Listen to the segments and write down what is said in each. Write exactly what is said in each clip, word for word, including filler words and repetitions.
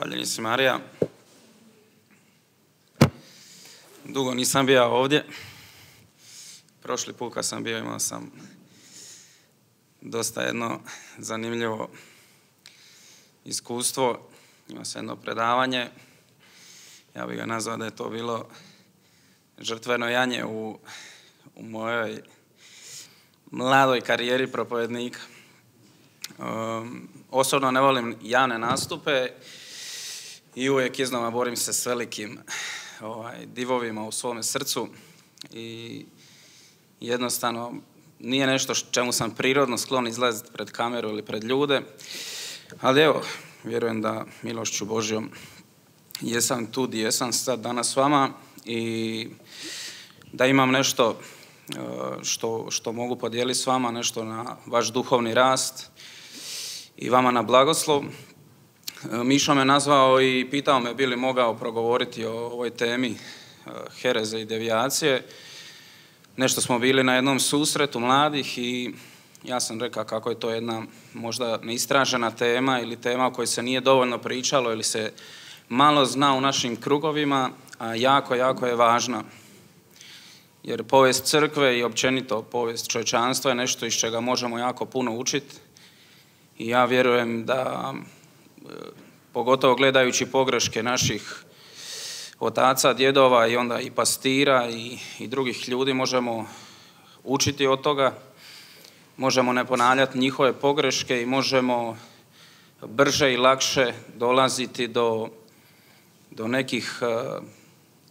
Zahvaljujem se, Marija. Dugo nisam bio ovdje. Prošli put kad sam bio imao sam dosta jedno zanimljivo iskustvo. Imao sam jedno predavanje. Ja bih ga nazvao da je to bilo žrtveno janje u, u mojoj mladoj karijeri propovednika. Um, osobno ne volim javne nastupe i uvijek iznova borim se s velikim ovaj, divovima u svome srcu i jednostavno nije nešto čemu sam prirodno sklon izlaziti pred kameru ili pred ljude, ali evo, vjerujem da milošću Božjom jesam tu gdje jesam sad danas s vama i da imam nešto što, što mogu podijeliti s vama, nešto na vaš duhovni rast i vama na blagoslov. Mišo me nazvao i pitao me bi li mogao progovoriti o ovoj temi hereze i devijacije. Nešto smo bili na jednom susretu mladih i ja sam rekao kako je to jedna možda neistražena tema ili tema o kojoj se nije dovoljno pričalo ili se malo zna u našim krugovima, a jako, jako je važna. Jer povijest crkve i općenito povijest čovječanstva je nešto iz čega možemo jako puno učiti. I ja vjerujem da, pogotovo gledajući pogreške naših otaca, djedova i onda i pastira i, i drugih ljudi, možemo učiti od toga, možemo ne ponavljati njihove pogreške i možemo brže i lakše dolaziti do, do nekih uh,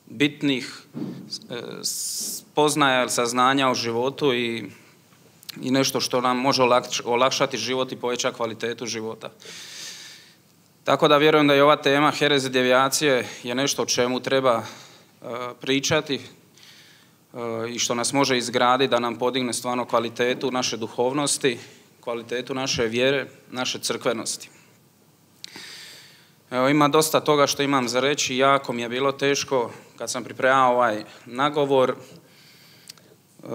bitnih uh, spoznaja ili saznanja u životu i i nešto što nam može olakšati život i poveća kvalitetu života. Tako da vjerujem da je ova tema hereze i devijacije je nešto o čemu treba uh, pričati uh, i što nas može izgraditi da nam podigne stvarno kvalitetu naše duhovnosti, kvalitetu naše vjere, naše crkvenosti. Evo, ima dosta toga što imam za reći, jako mi je bilo teško kad sam pripremao ovaj nagovor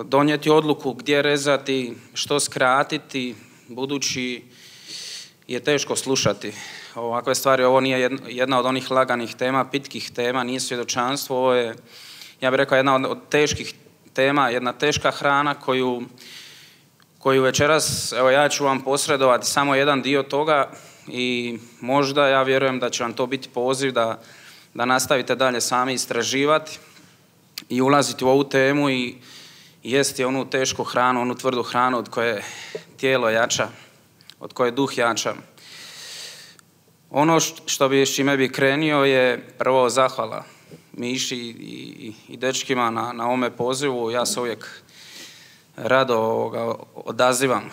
donijeti odluku gdje rezati, što skratiti, budući je teško slušati ovakve stvari. Ovo nije jedna od onih laganih tema, pitkih tema, nije svjedočanstvo, ovo je, ja bih rekao, jedna od teških tema, jedna teška hrana koju, koju večeras, evo ja ću vam posredovati samo jedan dio toga i možda ja vjerujem da će vam to biti poziv da, da nastavite dalje sami istraživati i ulaziti u ovu temu i jesti onu tešku hranu, onu tvrdu hranu od koje tijelo jača, od koje duh jača. Ono što bi, s čime bi krenio je prvo zahvala Miši i, i, i dečkima na, na ovome pozivu. Ja se uvijek rado ovoga, odazivam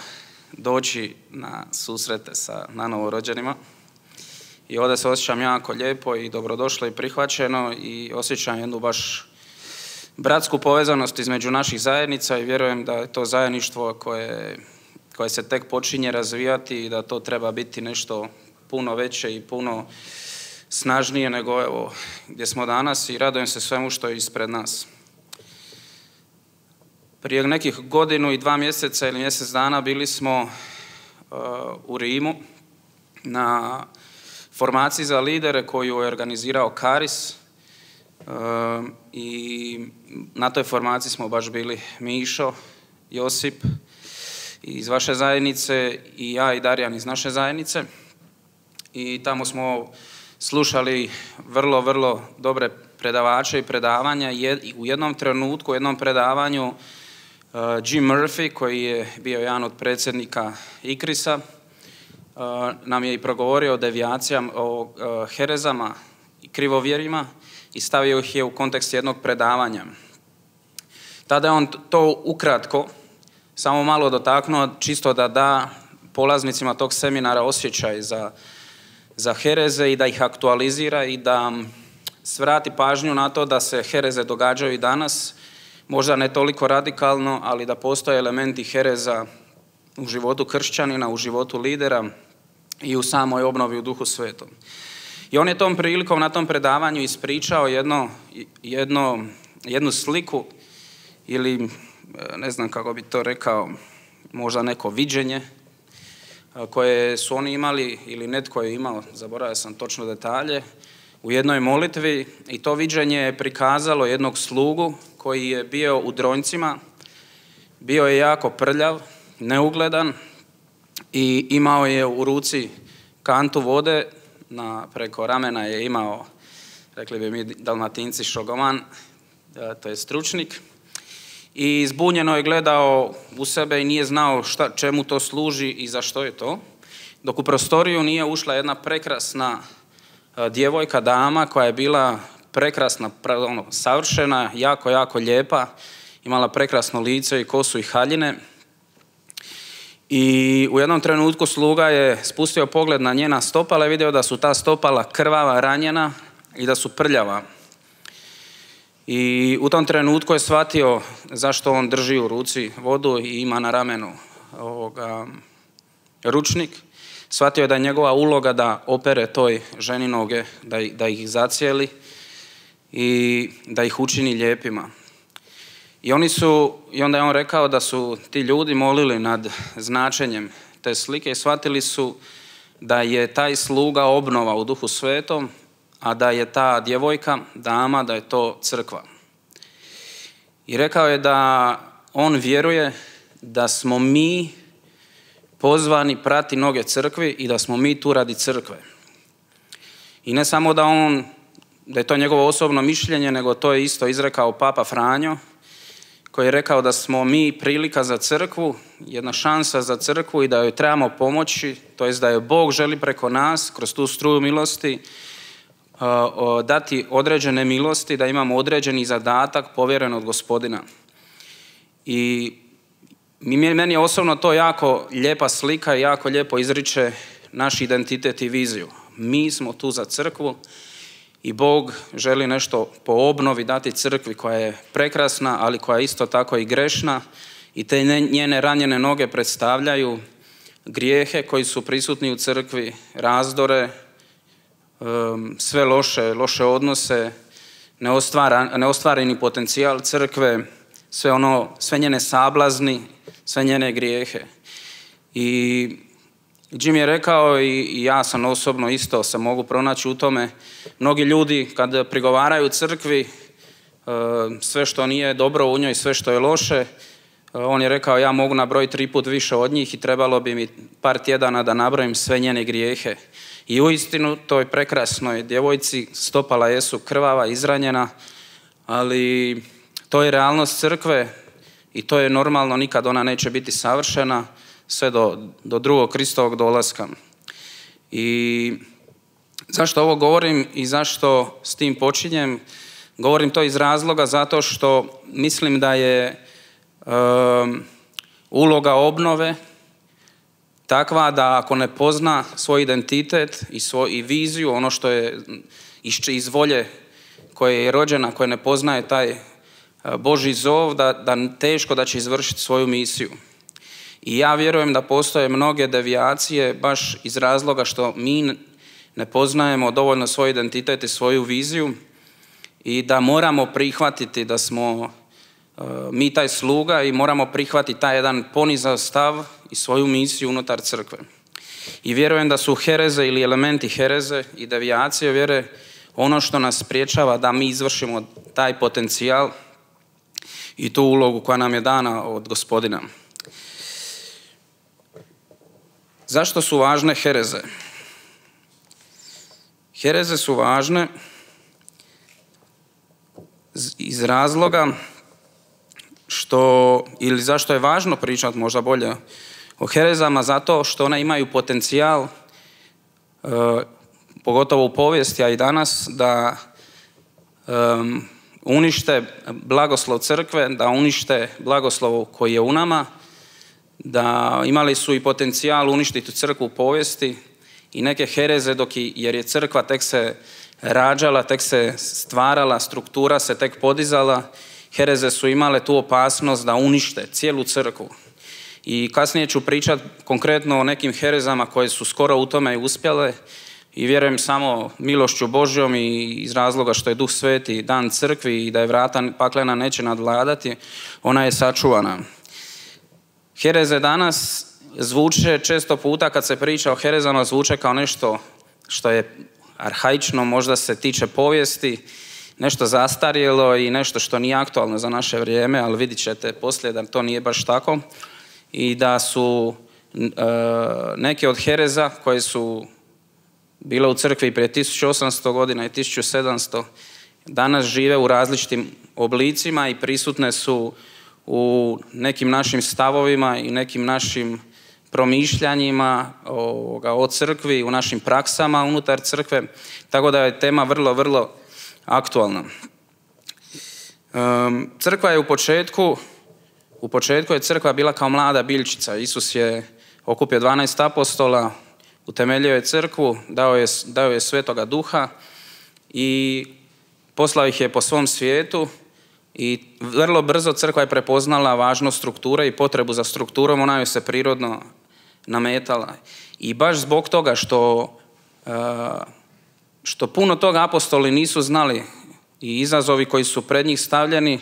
doći na susrete sa nanovorođenima i ovdje se osjećam jako lijepo i dobrodošlo i prihvaćeno i osjećam jednu baš bratsku povezanost između naših zajednica i vjerujem da je to zajedništvo koje, koje se tek počinje razvijati i da to treba biti nešto puno veće i puno snažnije nego evo gdje smo danas i radujem se svemu što je ispred nas. Prije nekih godinu i dva mjeseca ili mjesec dana bili smo uh, u Rimu na formaciji za lidere koju je organizirao Karis. Uh, i na toj formaciji smo baš bili Mišo, Josip iz vaše zajednice i ja i Darijan iz naše zajednice i tamo smo slušali vrlo, vrlo dobre predavače i predavanja. U jednom trenutku, u jednom predavanju uh, Jim Murphy, koji je bio jedan od predsjednika Ikrisa, uh, nam je i progovorio o devijacijama, o uh, herezama i krivovjerima i stavio ih je u kontekst jednog predavanja. Tada je on to ukratko, samo malo dotaknuo, čisto da da polaznicima tog seminara osjećaj za, za hereze i da ih aktualizira i da svrati pažnju na to da se hereze događaju i danas, možda ne toliko radikalno, ali da postoje elementi hereza u životu kršćanina, u životu lidera i u samoj obnovi u Duhu Svetom. I on je tom prilikom na tom predavanju ispričao jedno, jedno, jednu sliku ili ne znam kako bi to rekao, možda neko viđenje koje su oni imali, ili netko je imao, zaboravio sam točno detalje, u jednoj molitvi, i to viđenje je prikazalo jednog slugu koji je bio u dronjcima, bio je jako prljav, neugledan i imao je u ruci kantu vode, na, preko ramena je imao, rekli bi mi Dalmatinci, šogoman, to je stručnik, i zbunjeno je gledao u sebe i nije znao šta, čemu to služi i za što je to, dok u prostoriju nije ušla jedna prekrasna djevojka, dama, koja je bila prekrasna, ono, savršena, jako, jako lijepa, imala prekrasno lice i kosu i haljine. I u jednom trenutku sluga je spustio pogled na njena stopala i vidio da su ta stopala krvava, ranjena i da su prljava. I u tom trenutku je shvatio zašto on drži u ruci vodu i ima na ramenu ovoga, ručnik. Shvatio je da je njegova uloga da opere toj ženi noge, da, da ih zacijeli i da ih učini lijepima. I, oni su, I onda je on rekao da su ti ljudi molili nad značenjem te slike i shvatili su da je taj sluga obnova u Duhu Svetom, a da je ta djevojka, dama, da je to crkva. I rekao je da on vjeruje da smo mi pozvani prati noge crkvi i da smo mi tu radi crkve. I ne samo da on, da je to njegovo osobno mišljenje, nego to je isto izrekao Papa Franjo, koji je rekao da smo mi prilika za crkvu, jedna šansa za crkvu i da joj trebamo pomoći, to jest da joj Bog želi preko nas, kroz tu struju milosti, dati određene milosti, da imamo određeni zadatak povjeren od Gospodina. I meni je osobno to jako lijepa slika i jako lijepo izriče naš identitet i viziju. Mi smo tu za crkvu i Bog želi nešto po obnovi dati crkvi koja je prekrasna, ali koja je isto tako i grešna, i te njene ranjene noge predstavljaju grijehe koji su prisutni u crkvi, razdore, sve loše, loše odnose, neostvareni potencijal crkve, sve ono, sve njene sablazni, sve njene grijehe. I Jim je rekao, i ja sam osobno isto se mogu pronaći u tome, mnogi ljudi kad prigovaraju crkvi sve što nije dobro u njoj, sve što je loše, on je rekao, ja mogu nabrojiti tri put više od njih i trebalo bi mi par tjedana da nabrojim sve njene grijehe. I uistinu toj prekrasnoj djevojci stopala jesu krvava, izranjena, ali to je realnost crkve i to je normalno, nikad ona neće biti savršena sve do, do drugog Kristovog dolaska. I zašto ovo govorim i zašto s tim počinjem? Govorim to iz razloga zato što mislim da je um, uloga obnove takva da ako ne pozna svoj identitet i, svoj, i viziju, ono što je iz, iz volje koje je rođena, koje ne poznaje taj Božji zov, da, da teško da će izvršiti svoju misiju. I ja vjerujem da postoje mnoge devijacije baš iz razloga što mi ne poznajemo dovoljno svoj identitet i svoju viziju i da moramo prihvatiti da smo uh, mi taj sluga i moramo prihvatiti taj jedan ponizav stav i svoju misiju unutar crkve. I vjerujem da su hereze ili elementi hereze i devijacije vjere ono što nas spriječava da mi izvršimo taj potencijal i tu ulogu koja nam je dana od Gospodina. Zašto su važne hereze? Hereze su važne iz razloga što, ili zašto je važno pričati možda bolje o herezama, zato što one imaju potencijal, e, pogotovo u povijesti, a i danas, da e, unište blagoslov crkve, da unište blagoslov koji je u nama, da imali su i potencijal uništiti crkvu u povijesti i neke hereze, dok i, jer je crkva tek se rađala, tek se stvarala, struktura se tek podizala, hereze su imale tu opasnost da unište cijelu crkvu. I kasnije ću pričati konkretno o nekim herezama koje su skoro u tome uspjele i vjerujem samo milošću Božjom i iz razloga što je Duh Sveti dan crkvi i da je vrata paklena neće nadvladati, ona je sačuvana. Hereze danas zvuče često puta kad se priča o herezama, zvuče kao nešto što je arhaično, možda se tiče povijesti, nešto zastarjelo i nešto što nije aktualno za naše vrijeme, ali vidit ćete poslije da to nije baš tako i da su e, neke od hereza koje su bile u crkvi prije tisuću osamsto godina i tisuću sedamsto danas žive u različitim oblicima i prisutne su u nekim našim stavovima i nekim našim promišljanjima ovoga, o crkvi, u našim praksama unutar crkve, tako da je tema vrlo, vrlo aktualna. Um, crkva je u početku, u početku je crkva bila kao mlada biljčica. Isus je okupio dvanaest apostola, utemeljio je crkvu, dao je, dao je Svetoga Duha i poslao ih je po svom svijetu i vrlo brzo crkva je prepoznala važnost strukture i potrebu za strukturom, ona joj se prirodno nametala. I baš zbog toga što, što puno toga apostoli nisu znali i izazovi koji su pred njih stavljeni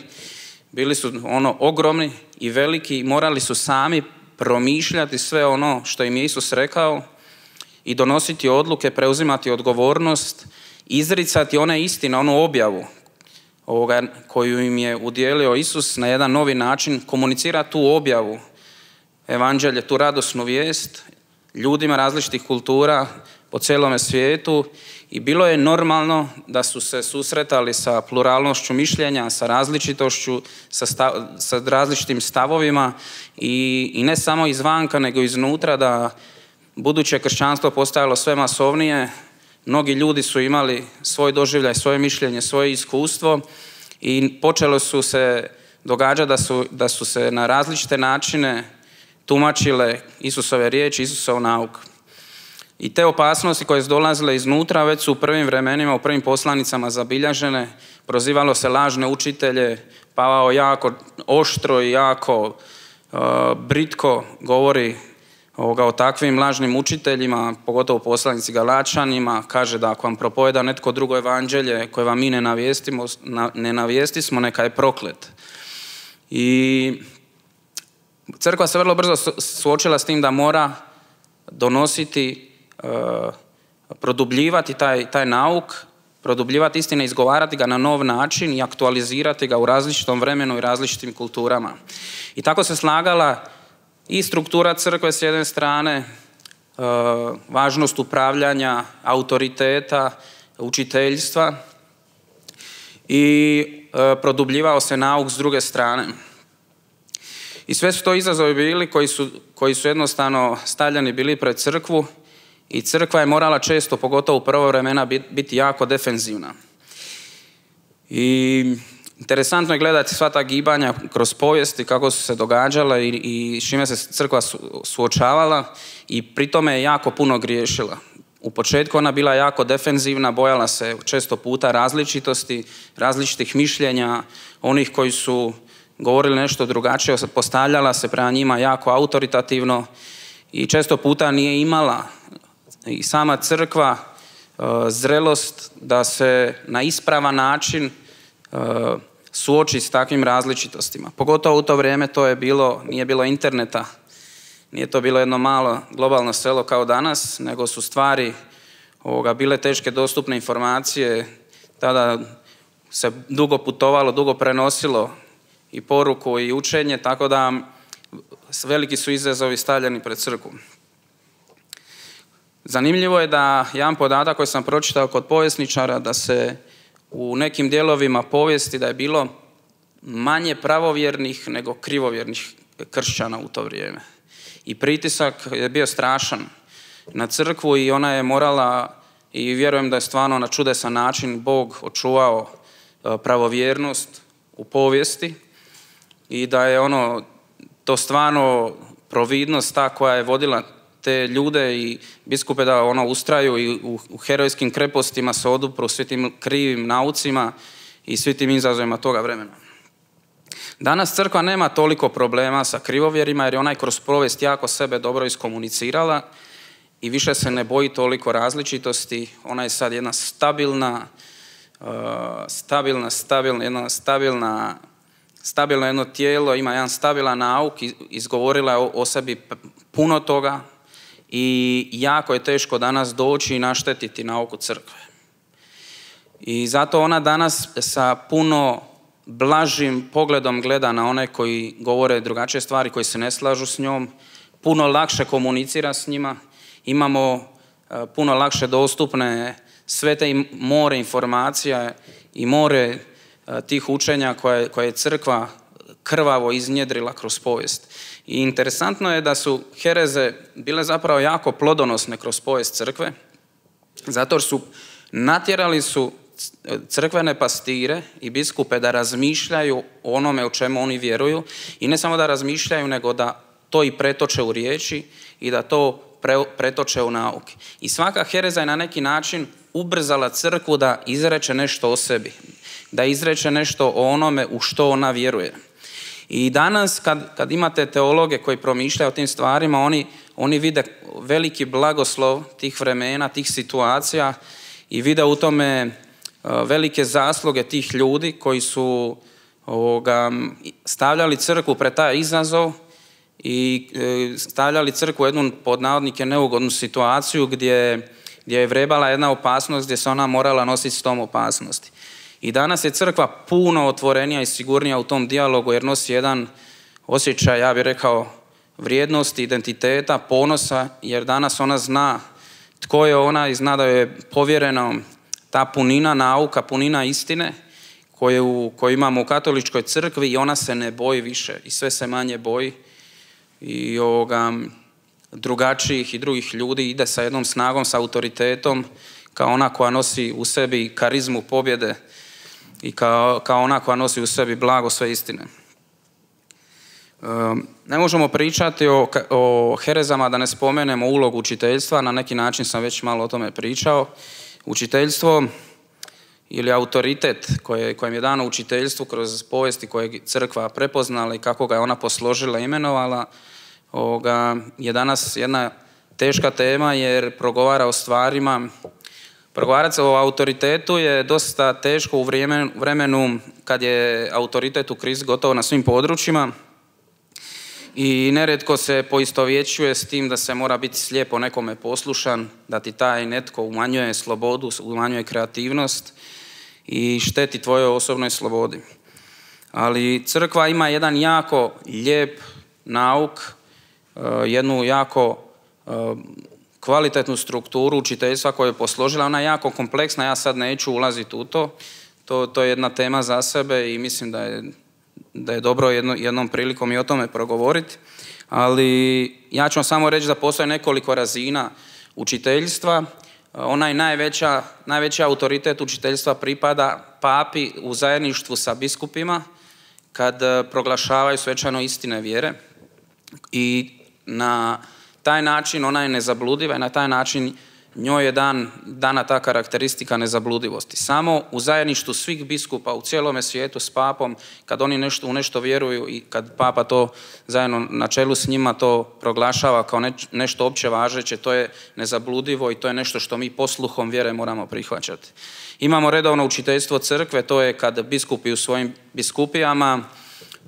bili su ono ogromni i veliki i morali su sami promišljati sve ono što im je Isus rekao i donositi odluke, preuzimati odgovornost, izricati one istine, onu objavu ovoga koju im je udjelio Isus na jedan novi način, komunicira tu objavu, evanđelje, tu radosnu vijest ljudima različitih kultura po cijelome svijetu i bilo je normalno da su se susretali sa pluralnošću mišljenja, sa različitošću, sa, stav, sa različitim stavovima i, i ne samo izvanka nego iznutra, da buduće kršćanstvo postajalo sve masovnije. Mnogi ljudi su imali svoj doživljaj, svoje mišljenje, svoje iskustvo i počelo su se događati da su, da su se na različite načine tumačile Isusove riječi, Isusov nauk. I te opasnosti koje su dolazile iznutra već su u prvim vremenima, u prvim poslanicama zabilježene. Prozivalo se lažne učitelje, Pavao jako oštro i jako uh, britko govori ovoga, o takvim lažnim učiteljima, pogotovo poslanici Galačanima, kaže da ako vam propoveda netko drugo evanđelje koje vam mi ne navijestimo, ne navijestismo, neka je proklet. I crkva se vrlo brzo suočila s tim da mora donositi, produbljivati taj, taj nauk, produbljivati istine, izgovarati ga na nov način i aktualizirati ga u različitom vremenu i različitim kulturama. I tako se slagala i struktura crkve s jedne strane, važnost upravljanja, autoriteta, učiteljstva i produbljivao se nauk s druge strane. I sve su to izazovi bili koji su, koji su jednostavno stavljeni bili pred crkvu i crkva je morala često, pogotovo u prvo vremena, biti jako defenzivna. I interesantno je gledati sva ta gibanja kroz povijesti, kako su se događala i, i s čime se crkva suočavala i pri tome je jako puno griješila. U početku ona bila jako defenzivna, bojala se često puta različitosti, različitih mišljenja, onih koji su govorili nešto drugačije, postavljala se prema njima jako autoritativno i često puta nije imala i sama crkva uh, zrelost da se na ispravan način uh, suoči s takvim različitostima. Pogotovo u to vrijeme to je bilo, nije bilo interneta, nije to bilo jedno malo globalno selo kao danas, nego su stvari ovoga, bile teške dostupne informacije, tada se dugo putovalo, dugo prenosilo i poruku i učenje, tako da veliki su izazovi stavljeni pred crkvu. Zanimljivo je da jedan podatak koji sam pročitao kod povjesničara, da se u nekim dijelovima povijesti da je bilo manje pravovjernih nego krivovjernih kršćana u to vrijeme. I pritisak je bio strašan na crkvu i ona je morala, i vjerujem da je stvarno na čudesan način Bog očuvao pravovjernost u povijesti i da je ono, to stvarno providnost ta koja je vodila te ljude i biskupe da ono ustraju i u, u herojskim krepostima se odupru svi tim krivim naucima i svi tim izazovima toga vremena. Danas crkva nema toliko problema sa krivovjerima jer je ona kroz povijest jako sebe dobro iskomunicirala i više se ne boji toliko različitosti. Ona je sad jedna stabilna, uh, stabilna, stabilna, jedna stabilna, stabilno jedno tijelo, ima jedan stabilan nauk, izgovorila je o, o sebi puno toga i jako je teško danas doći i naštetiti nauku crkve. I zato ona danas sa puno blažim pogledom gleda na one koji govore drugačije stvari, koji se ne slažu s njom, puno lakše komunicira s njima, imamo puno lakše dostupne sve te more informacija i more tih učenja koje, koje je crkva krvavo iznjedrila kroz povijest. I interesantno je da su hereze bile zapravo jako plodonosne kroz povijest crkve, zato su natjerali su crkvene pastire i biskupe da razmišljaju o onome o čemu oni vjeruju i ne samo da razmišljaju, nego da to i pretoče u riječi i da to pre, pretoče u nauke. I svaka hereza je na neki način ubrzala crkvu da izreče nešto o sebi, da izreče nešto o onome u što ona vjeruje. I danas kad, kad imate teologe koji promišljaju o tim stvarima, oni, oni vide veliki blagoslov tih vremena, tih situacija i vide u tome velike zasluge tih ljudi koji su ovoga, stavljali crkvu pred taj izazov i stavljali crkvu u jednu pod navodnike neugodnu situaciju gdje, gdje je vrebala jedna opasnost gdje se ona morala nositi s tom opasnosti. I danas je crkva puno otvorenija i sigurnija u tom dijalogu jer nosi jedan osjećaj, ja bih rekao, vrijednosti, identiteta, ponosa, jer danas ona zna tko je ona i zna da je povjereno ta punina nauka, punina istine koju, koju imamo u katoličkoj crkvi i ona se ne boji više i sve se manje boji i ovoga, drugačijih i drugih ljudi, ide sa jednom snagom, sa autoritetom kao ona koja nosi u sebi karizmu pobjede i kao, kao ona koja nosi u sebi blago sve istine. Ne možemo pričati o, o herezama da ne spomenemo ulogu učiteljstva, na neki način sam već malo o tome pričao. Učiteljstvo ili autoritet koje, kojem je dano učiteljstvu kroz povijesti koje je crkva prepoznala i kako ga je ona posložila i imenovala, ovoga, je danas jedna teška tema jer progovara o stvarima. Progovarati o autoritetu je dosta teško u vremenu kad je autoritet u krizi gotovo na svim područjima i nerijetko se poistovjećuje s tim da se mora biti slijepo nekome poslušan, da ti taj netko umanjuje slobodu, umanjuje kreativnost i šteti tvojoj osobnoj slobodi. Ali crkva ima jedan jako lijep nauk, jednu jako kvalitetnu strukturu učiteljstva koju je posložila. Ona je jako kompleksna, ja sad neću ulaziti u to. To, to je jedna tema za sebe i mislim da je, da je dobro jedno, jednom prilikom i o tome progovoriti. Ali ja ću vam samo reći da postoje nekoliko razina učiteljstva. Onaj najveća, najveći autoritet učiteljstva pripada papi u zajedništvu sa biskupima kad proglašavaju svečano istine vjere i na taj način ona je nezabludiva i na taj način njoj je dan, dana ta karakteristika nezabludivosti. Samo u zajedništvu svih biskupa u cijelome svijetu s papom, kad oni nešto, u nešto vjeruju i kad papa to zajedno na čelu s njima to proglašava kao ne, nešto opće važeće, to je nezabludivo i to je nešto što mi posluhom vjere moramo prihvaćati. Imamo redovno učiteljstvo crkve, to je kad biskupi u svojim biskupijama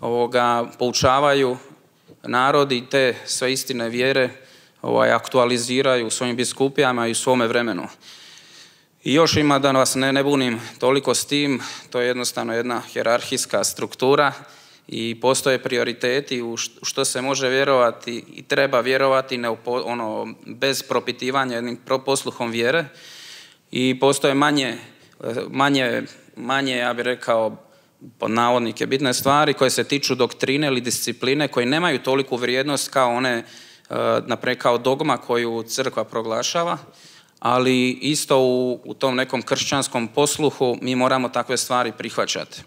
ovoga, poučavaju narod i te sve istine vjere ovaj, aktualiziraju u svojim biskupijama i u svome vremenu. I još ima, da vas ne, ne bunim toliko s tim, to je jednostavno jedna hijerarhijska struktura i postoje prioriteti u što se može vjerovati i treba vjerovati ne, ono, bez propitivanja jednim posluhom vjere i postoje manje, manje, manje ja bih rekao, pod navodnike bitne stvari koje se tiču doktrine ili discipline koje nemaju toliku vrijednost kao one, naprijed kao dogma koju crkva proglašava, ali isto u, u tom nekom kršćanskom posluhu mi moramo takve stvari prihvaćati.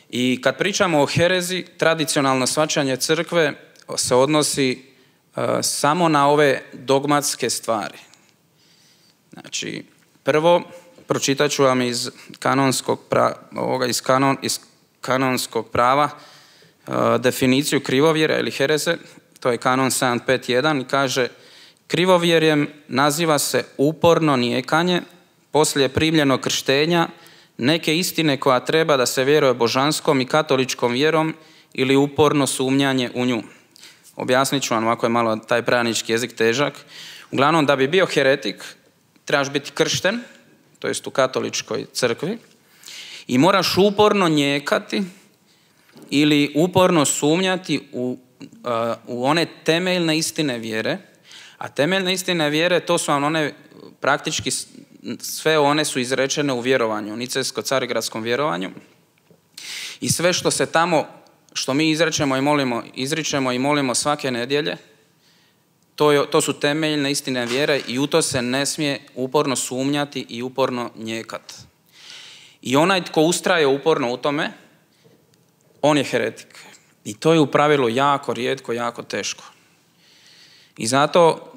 I kad pričamo o herezi, tradicionalno shvaćanje crkve se odnosi uh, samo na ove dogmatske stvari. Znači, prvo, pročitat ću vam iz kanonskog, pra, ovoga, iz kanon, iz kanonskog prava uh, definiciju krivovjera ili hereze. To je kanon sedam pet jedan i kaže: krivovjerjem naziva se uporno nijekanje poslije primljenog krštenja neke istine koja treba da se vjeruje božanskom i katoličkom vjerom ili uporno sumnjanje u nju. Objasnit ću vam, ovako je malo taj pravnički jezik težak. Uglavnom, da bi bio heretik, trebaš biti kršten, to jest u katoličkoj crkvi, i moraš uporno njekati ili uporno sumnjati u, uh, u one temeljne istine vjere, a temeljne istine vjere to su vam one praktički sve one su izrečene u vjerovanju, u nicejsko-carigradskom vjerovanju i sve što se tamo, što mi izrečemo i molimo, izričemo i molimo svake nedjelje, to, je, to su temeljne istine vjere i u to se ne smije uporno sumnjati i uporno njekati. I onaj tko ustraje uporno u tome, on je heretik. I to je u pravilu jako rijetko, jako teško. I zato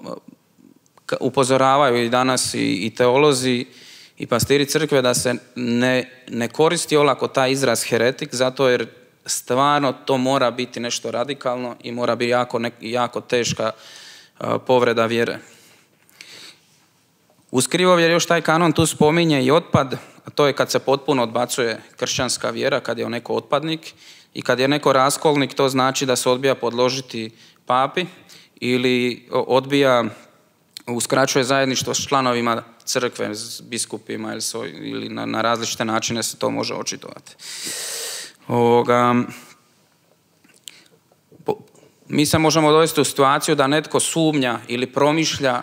upozoravaju i danas i, i teolozi i pastiri crkve da se ne, ne koristi olako taj izraz heretik, zato jer stvarno to mora biti nešto radikalno i mora biti jako, ne, jako teška uh, povreda vjere. Uz krivovjer još taj kanon tu spominje i otpad, a to je kad se potpuno odbacuje kršćanska vjera, kad je neko otpadnik i kad je neko raskolnik, to znači da se odbija podložiti papi ili odbija, uskraćuje zajedništvo s članovima crkve, s biskupima ili, so, ili na, na različite načine se to može očitovati. Ovoga, po, mi se možemo dovesti u situaciju da netko sumnja ili promišlja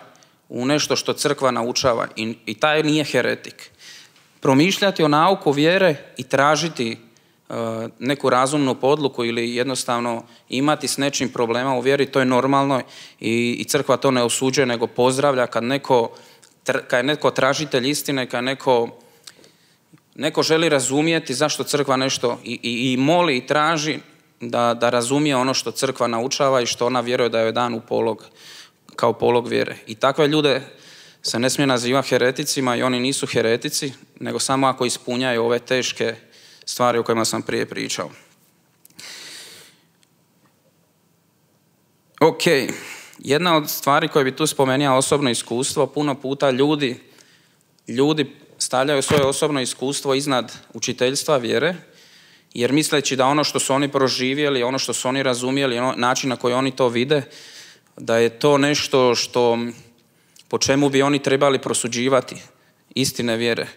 u nešto što crkva naučava i, i taj nije heretik. Promišljati o nauku vjere i tražiti uh, neku razumnu podluku ili jednostavno imati s nečim problema u vjeri, to je normalno i, i crkva to ne osuđuje, nego pozdravlja kad neko, kad je neko tražitelj istine, kad neko, neko želi razumijeti zašto crkva nešto i, i, i moli i traži da, da razumije ono što crkva naučava i što ona vjeruje da je dan u polog, kao polog vjere. I takve ljude se ne smije nazivati hereticima i oni nisu heretici, nego samo ako ispunjaju ove teške stvari o kojima sam prije pričao. Ok, jedna od stvari koje bi tu spomenuo osobno iskustvo, puno puta ljudi, ljudi stavljaju svoje osobno iskustvo iznad učiteljstva vjere, jer misleći da ono što su oni proživjeli, ono što su oni razumjeli, način na koji oni to vide, da je to nešto što, po čemu bi oni trebali prosuđivati istine vjere.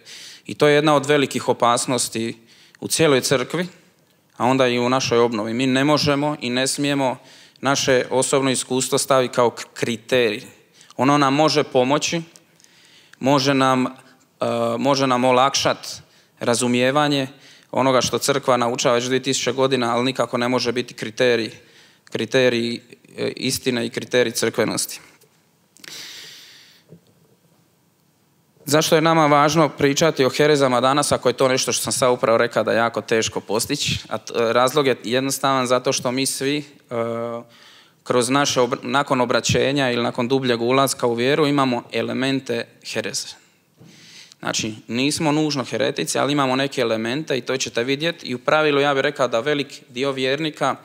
I to je jedna od velikih opasnosti u cijeloj crkvi, a onda i u našoj obnovi. Mi ne možemo i ne smijemo naše osobno iskustvo staviti kao kriterij. Ono nam može pomoći, može nam, uh, može nam olakšati razumijevanje onoga što crkva naučava već dvije tisuće godina, ali nikako ne može biti kriterij, kriterij istine i kriterij crkvenosti. Zašto je nama važno pričati o herezama danas, ako je to nešto što sam sad upravo rekao da je jako teško postići? A razlog je jednostavan zato što mi svi uh, kroz naše, obra- nakon obraćenja ili nakon dubljeg ulaska u vjeru imamo elemente hereze. Znači, nismo nužno heretici, ali imamo neke elemente i to ćete vidjeti. I u pravilu ja bih rekao da velik dio vjernika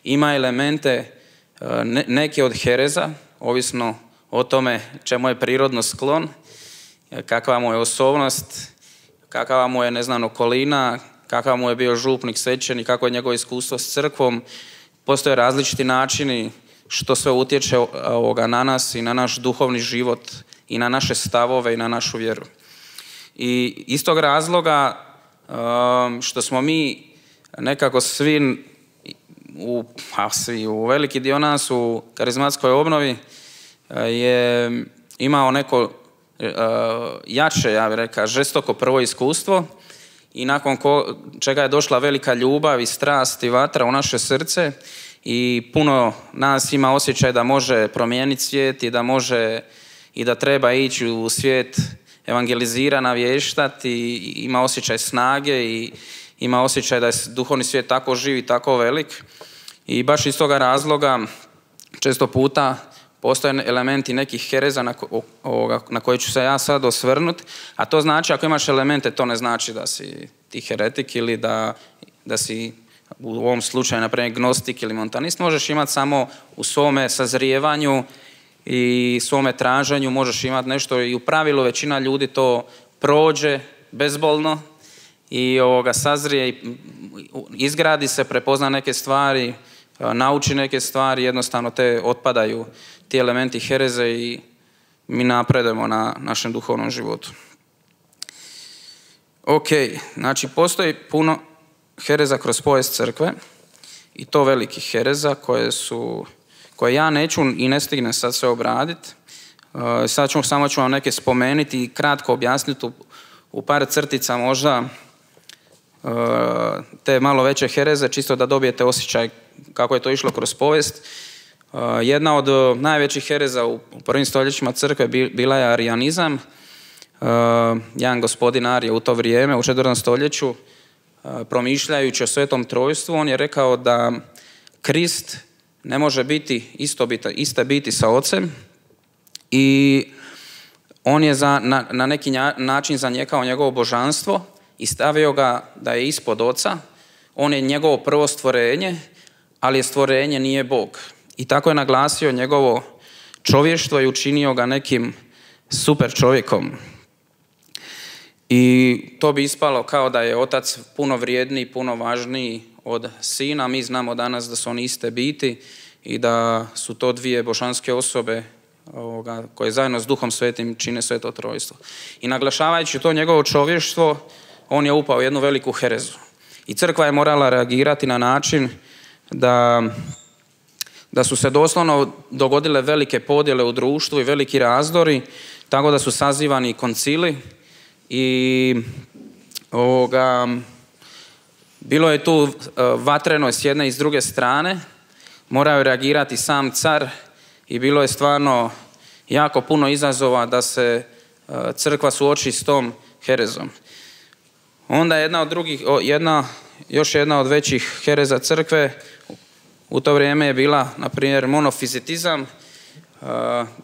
ima elemente uh, ne, neke od hereza, ovisno o tome čemu je prirodno sklon, kakva mu je osobnost, kakva mu je, ne znam, okolina, kakav mu je bio župnik, svećenik, kako je njegovo iskustvo s crkvom. Postoje različiti načini što sve utječe ovoga na nas i na naš duhovni život i na naše stavove i na našu vjeru. I iz tog razloga što smo mi nekako svi u, a svi, u veliki dio nas u karizmatskoj obnovi je imao neko jače, ja bih rekao, žestoko prvo iskustvo i nakon ko, čega je došla velika ljubav i strast i vatra u naše srce i puno nas ima osjećaj da može promijeniti svijet i da može i da treba ići u svijet evangelizira, navještati i ima osjećaj snage i ima osjećaj da je duhovni svijet tako živ i tako velik i baš iz toga razloga često puta postoje elementi nekih hereza na, ko, ovoga, na koje ću se ja sad osvrnuti, a to znači ako imaš elemente, to ne znači da si ti heretik ili da, da si u ovom slučaju, naprimjer, gnostik ili montanist. Možeš imati samo u svome sazrijevanju i svome traženju, možeš imati nešto i u pravilu većina ljudi to prođe bezbolno i ovoga, sazrije i izgradi se, prepozna neke stvari, nauči neke stvari, jednostavno te otpadaju ti elementi hereze i mi napredujemo na našem duhovnom životu. Ok, znači postoji puno hereza kroz povijest crkve i to velikih hereza koje su, koje ja neću i ne stignem sad sve obraditi. Sad ću, samo ću vam neke spomenuti i kratko objasniti u, u par crtica možda te malo veće hereze, čisto da dobijete osjećaj kako je to išlo kroz povijest. Jedna od najvećih hereza u prvim stoljećima crkve bila je arijanizam. Jedan gospodin Arije u to vrijeme, u četvrtom stoljeću, promišljajući o Svetom Trojstvu, on je rekao da Krist ne može biti isto biti, iste biti sa Ocem i on je za, na, na neki način zanijekao njegovo božanstvo i stavio ga da je ispod Oca. On je njegovo prvo stvorenje, ali je stvorenje nije Bog. I tako je naglasio njegovo čovještvo i učinio ga nekim super čovjekom. I to bi ispalo kao da je Otac puno vrijedniji, puno važniji od Sina. Mi znamo danas da su oni iste biti i da su to dvije božanske osobe ovoga, koje zajedno s Duhom Svetim čine Sveto Trojstvo. I naglašavajući to njegovo čovještvo, on je upao u jednu veliku herezu. I crkva je morala reagirati na način da, da su se doslovno dogodile velike podjele u društvu i veliki razdori, tako da su sazivani koncili i ovoga, bilo je tu vatreno s jedne i s druge strane, morao je reagirati sam car i bilo je stvarno jako puno izazova da se crkva suoči s tom herezom. Onda jedna od drugih, jedna, još jedna od većih hereza crkve u to vrijeme je bila, na primjer, monofizitizam.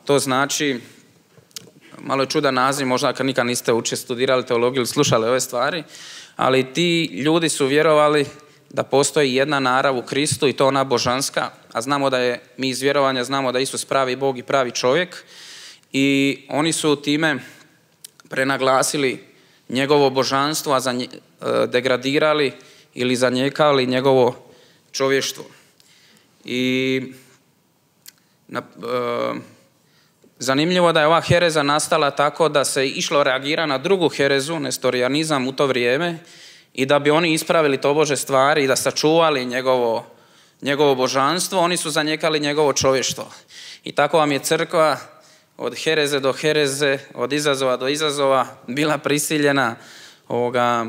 To znači, malo je čudan naziv, možda kad nikad niste uče studirali teologiju ili slušali ove stvari, ali ti ljudi su vjerovali da postoji jedna narav u Kristu i to ona božanska, a znamo da je, mi iz vjerovanja znamo da je Isus pravi Bog i pravi čovjek i oni su time prenaglasili njegovo božanstvo, a zanje, degradirali ili zanijekali njegovo čovještvo. I na, e, zanimljivo da je ova hereza nastala tako da se išlo reagira na drugu herezu, nestorijanizam u to vrijeme, i da bi oni ispravili tobože stvari i da sačuvali njegovo, njegovo božanstvo, oni su zanijekali njegovo čovještvo. I tako vam je crkva od hereze do hereze, od izazova do izazova bila prisiljena ovoga,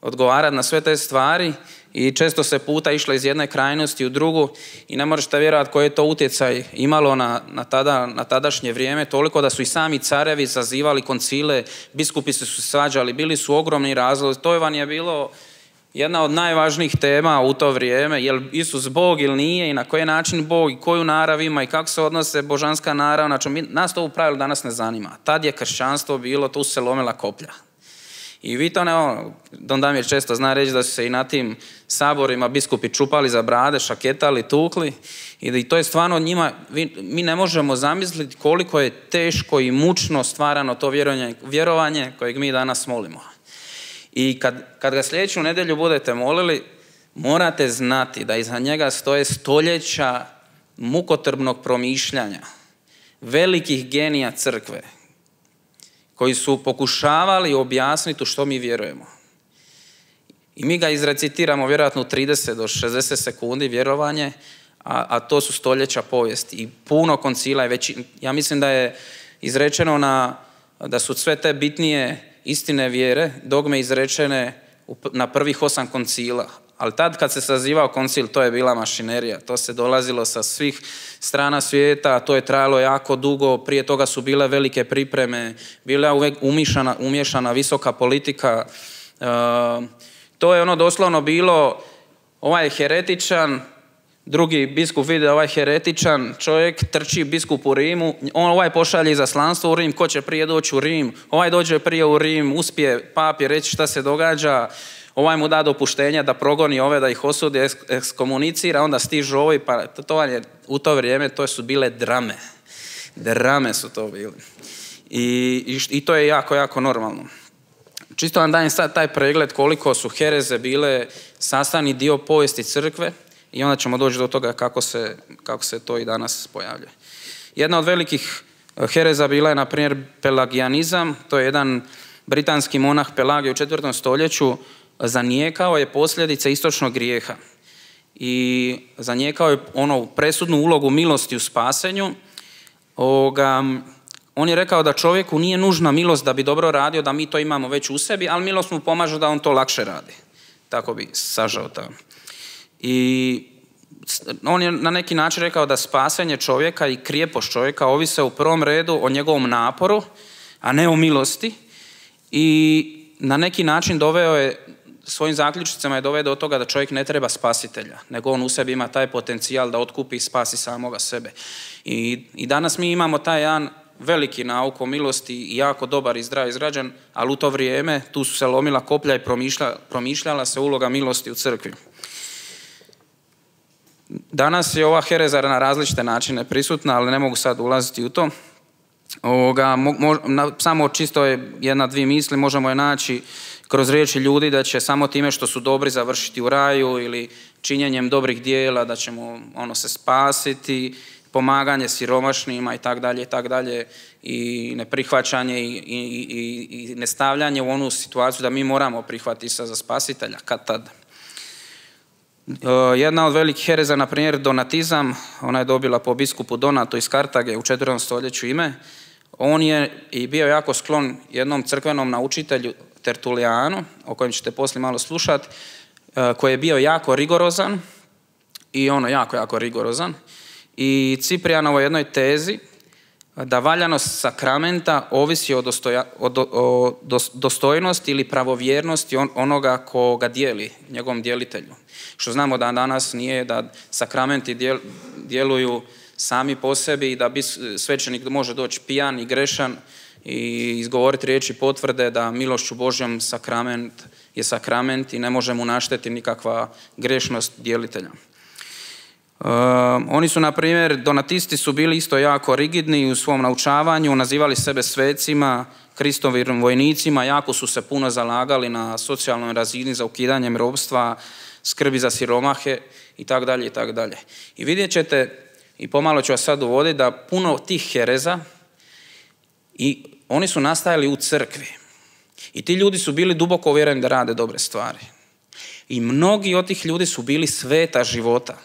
odgovarati na sve te stvari i često se puta išlo iz jedne krajnosti u drugu i ne možete vjerovati koji je to utjecaj imalo na, na, tada, na tadašnje vrijeme, toliko da su i sami carevi zazivali koncile, biskupi su se svađali, bili su ogromni razlozi. To vam je bilo jedna od najvažnijih tema u to vrijeme, je li Isus Bog ili nije i na koji način Bog i koju narav ima i kako se odnose božanska narav. Znači, mi, nas to u pravilu danas ne zanima. Tad je kršćanstvo bilo, tu se lomila koplja. I vi to ne, ono, Don Damir često zna reći da su se i na tim saborima biskupi čupali za brade, šaketali, tukli i to je stvarno njima, vi, mi ne možemo zamisliti koliko je teško i mučno stvarano to vjerovanje, vjerovanje kojeg mi danas molimo. I kad, kad ga sljedeću nedjelju budete molili, morate znati da iza njega stoje stoljeća mukotrpnog promišljanja, velikih genija crkve, koji su pokušavali objasniti u što mi vjerujemo. I mi ga izrecitiramo vjerojatno u trideset do šezdeset sekundi vjerovanje, a, a to su stoljeća povijesti i puno koncila. Već, ja mislim da je izrečeno na, da su sve te bitnije istine vjere, dogme izrečene na prvih osam koncila. Ali tad kad se sazivao koncil, to je bila mašinerija. To se dolazilo sa svih strana svijeta, to je trajalo jako dugo, prije toga su bile velike pripreme, bila je uvijek umješana, umješana visoka politika. E, to je ono doslovno bilo, ovaj heretičan, drugi biskup vidi ovaj heretičan čovjek, trči biskup u Rimu, on ovaj pošalje izaslanstvo u Rim, ko će prije doći u Rim, ovaj dođe prije u Rim, uspije papi reći šta se događa, ovaj mu da dopuštenje da progoni ove, da ih osudi, ekskomunicira, onda stižu ovi, pa to je u to vrijeme, to su bile drame. Drame su to bile. I, i, i to je jako, jako normalno. Čisto vam dajem sad taj pregled koliko su hereze bile sastavni dio povijesti crkve i onda ćemo doći do toga kako se, kako se to i danas pojavljuje. Jedna od velikih hereza bila je, na primjer, pelagijanizam. To je jedan britanski monah Pelagije u četvrtom stoljeću zanijekao je posljedice istočnog grijeha. I zanijekao je ono presudnu ulogu milosti u spasenju. Ovoga, on je rekao da čovjeku nije nužna milost da bi dobro radio, da mi to imamo već u sebi, ali milost mu pomaže da on to lakše radi. Tako bi sažao to. I on je na neki način rekao da spasenje čovjeka i krijepost čovjeka ovise u prvom redu o njegovom naporu, a ne o milosti. I na neki način doveo je, svojim zaključicama je doveo do toga da čovjek ne treba spasitelja, nego on u sebi ima taj potencijal da otkupi i spasi samoga sebe. I, i danas mi imamo taj jedan veliki nauk o milosti i jako dobar i zdrav izgrađen, ali u to vrijeme tu su se lomila koplja i promišlja, promišljala se uloga milosti u crkvi. Danas je ova hereza na različite načine prisutna, ali ne mogu sad ulaziti u to. Ovoga, mo, mo, na, samo čisto je jedna, dvije misli, možemo je naći kroz riječi ljudi da će samo time što su dobri završiti u raju ili činjenjem dobrih dijela da ćemo ono se spasiti, pomaganje siromašnima i tak dalje i tak dalje i neprihvaćanje i, i, i, i nestavljanje u onu situaciju da mi moramo prihvatiti se za spasitelja kad tad. Jedna od velikih hereza, na primjer, donatizam, ona je dobila po biskupu Donatu iz Kartage u četvrtom stoljeću ime. On je i bio jako sklon jednom crkvenom naučitelju Tertulijanu, o kojem ćete poslije malo slušati, koji je bio jako rigorozan i ono jako, jako rigorozan. I Ciprijanovoj jednoj tezi da valjanost sakramenta ovisi o, dostoja, o, do, o dostojnosti ili pravovjernosti on, onoga ko ga dijeli, njegovom djelitelju. Što znamo da danas nije da sakramenti djel, djeluju sami po sebi i da bi svećenik može doći pijan i grešan i izgovoriti riječi potvrde da milošću Božjom sakrament je sakrament i ne može mu naštetiti nikakva grešnost djelitelja. Uh, oni su, na primjer, donatisti su bili isto jako rigidni u svom naučavanju, nazivali sebe svecima, Kristovim vojnicima, jako su se puno zalagali na socijalnoj razini za ukidanjem ropstva, skrbi za siromahe i tako dalje i tako dalje. I vidjet ćete, i pomalo ću vas sad uvoditi, da puno tih hereza i oni su nastajali u crkvi. I ti ljudi su bili duboko uvjereni da rade dobre stvari. I mnogi od tih ljudi su bili sveta života,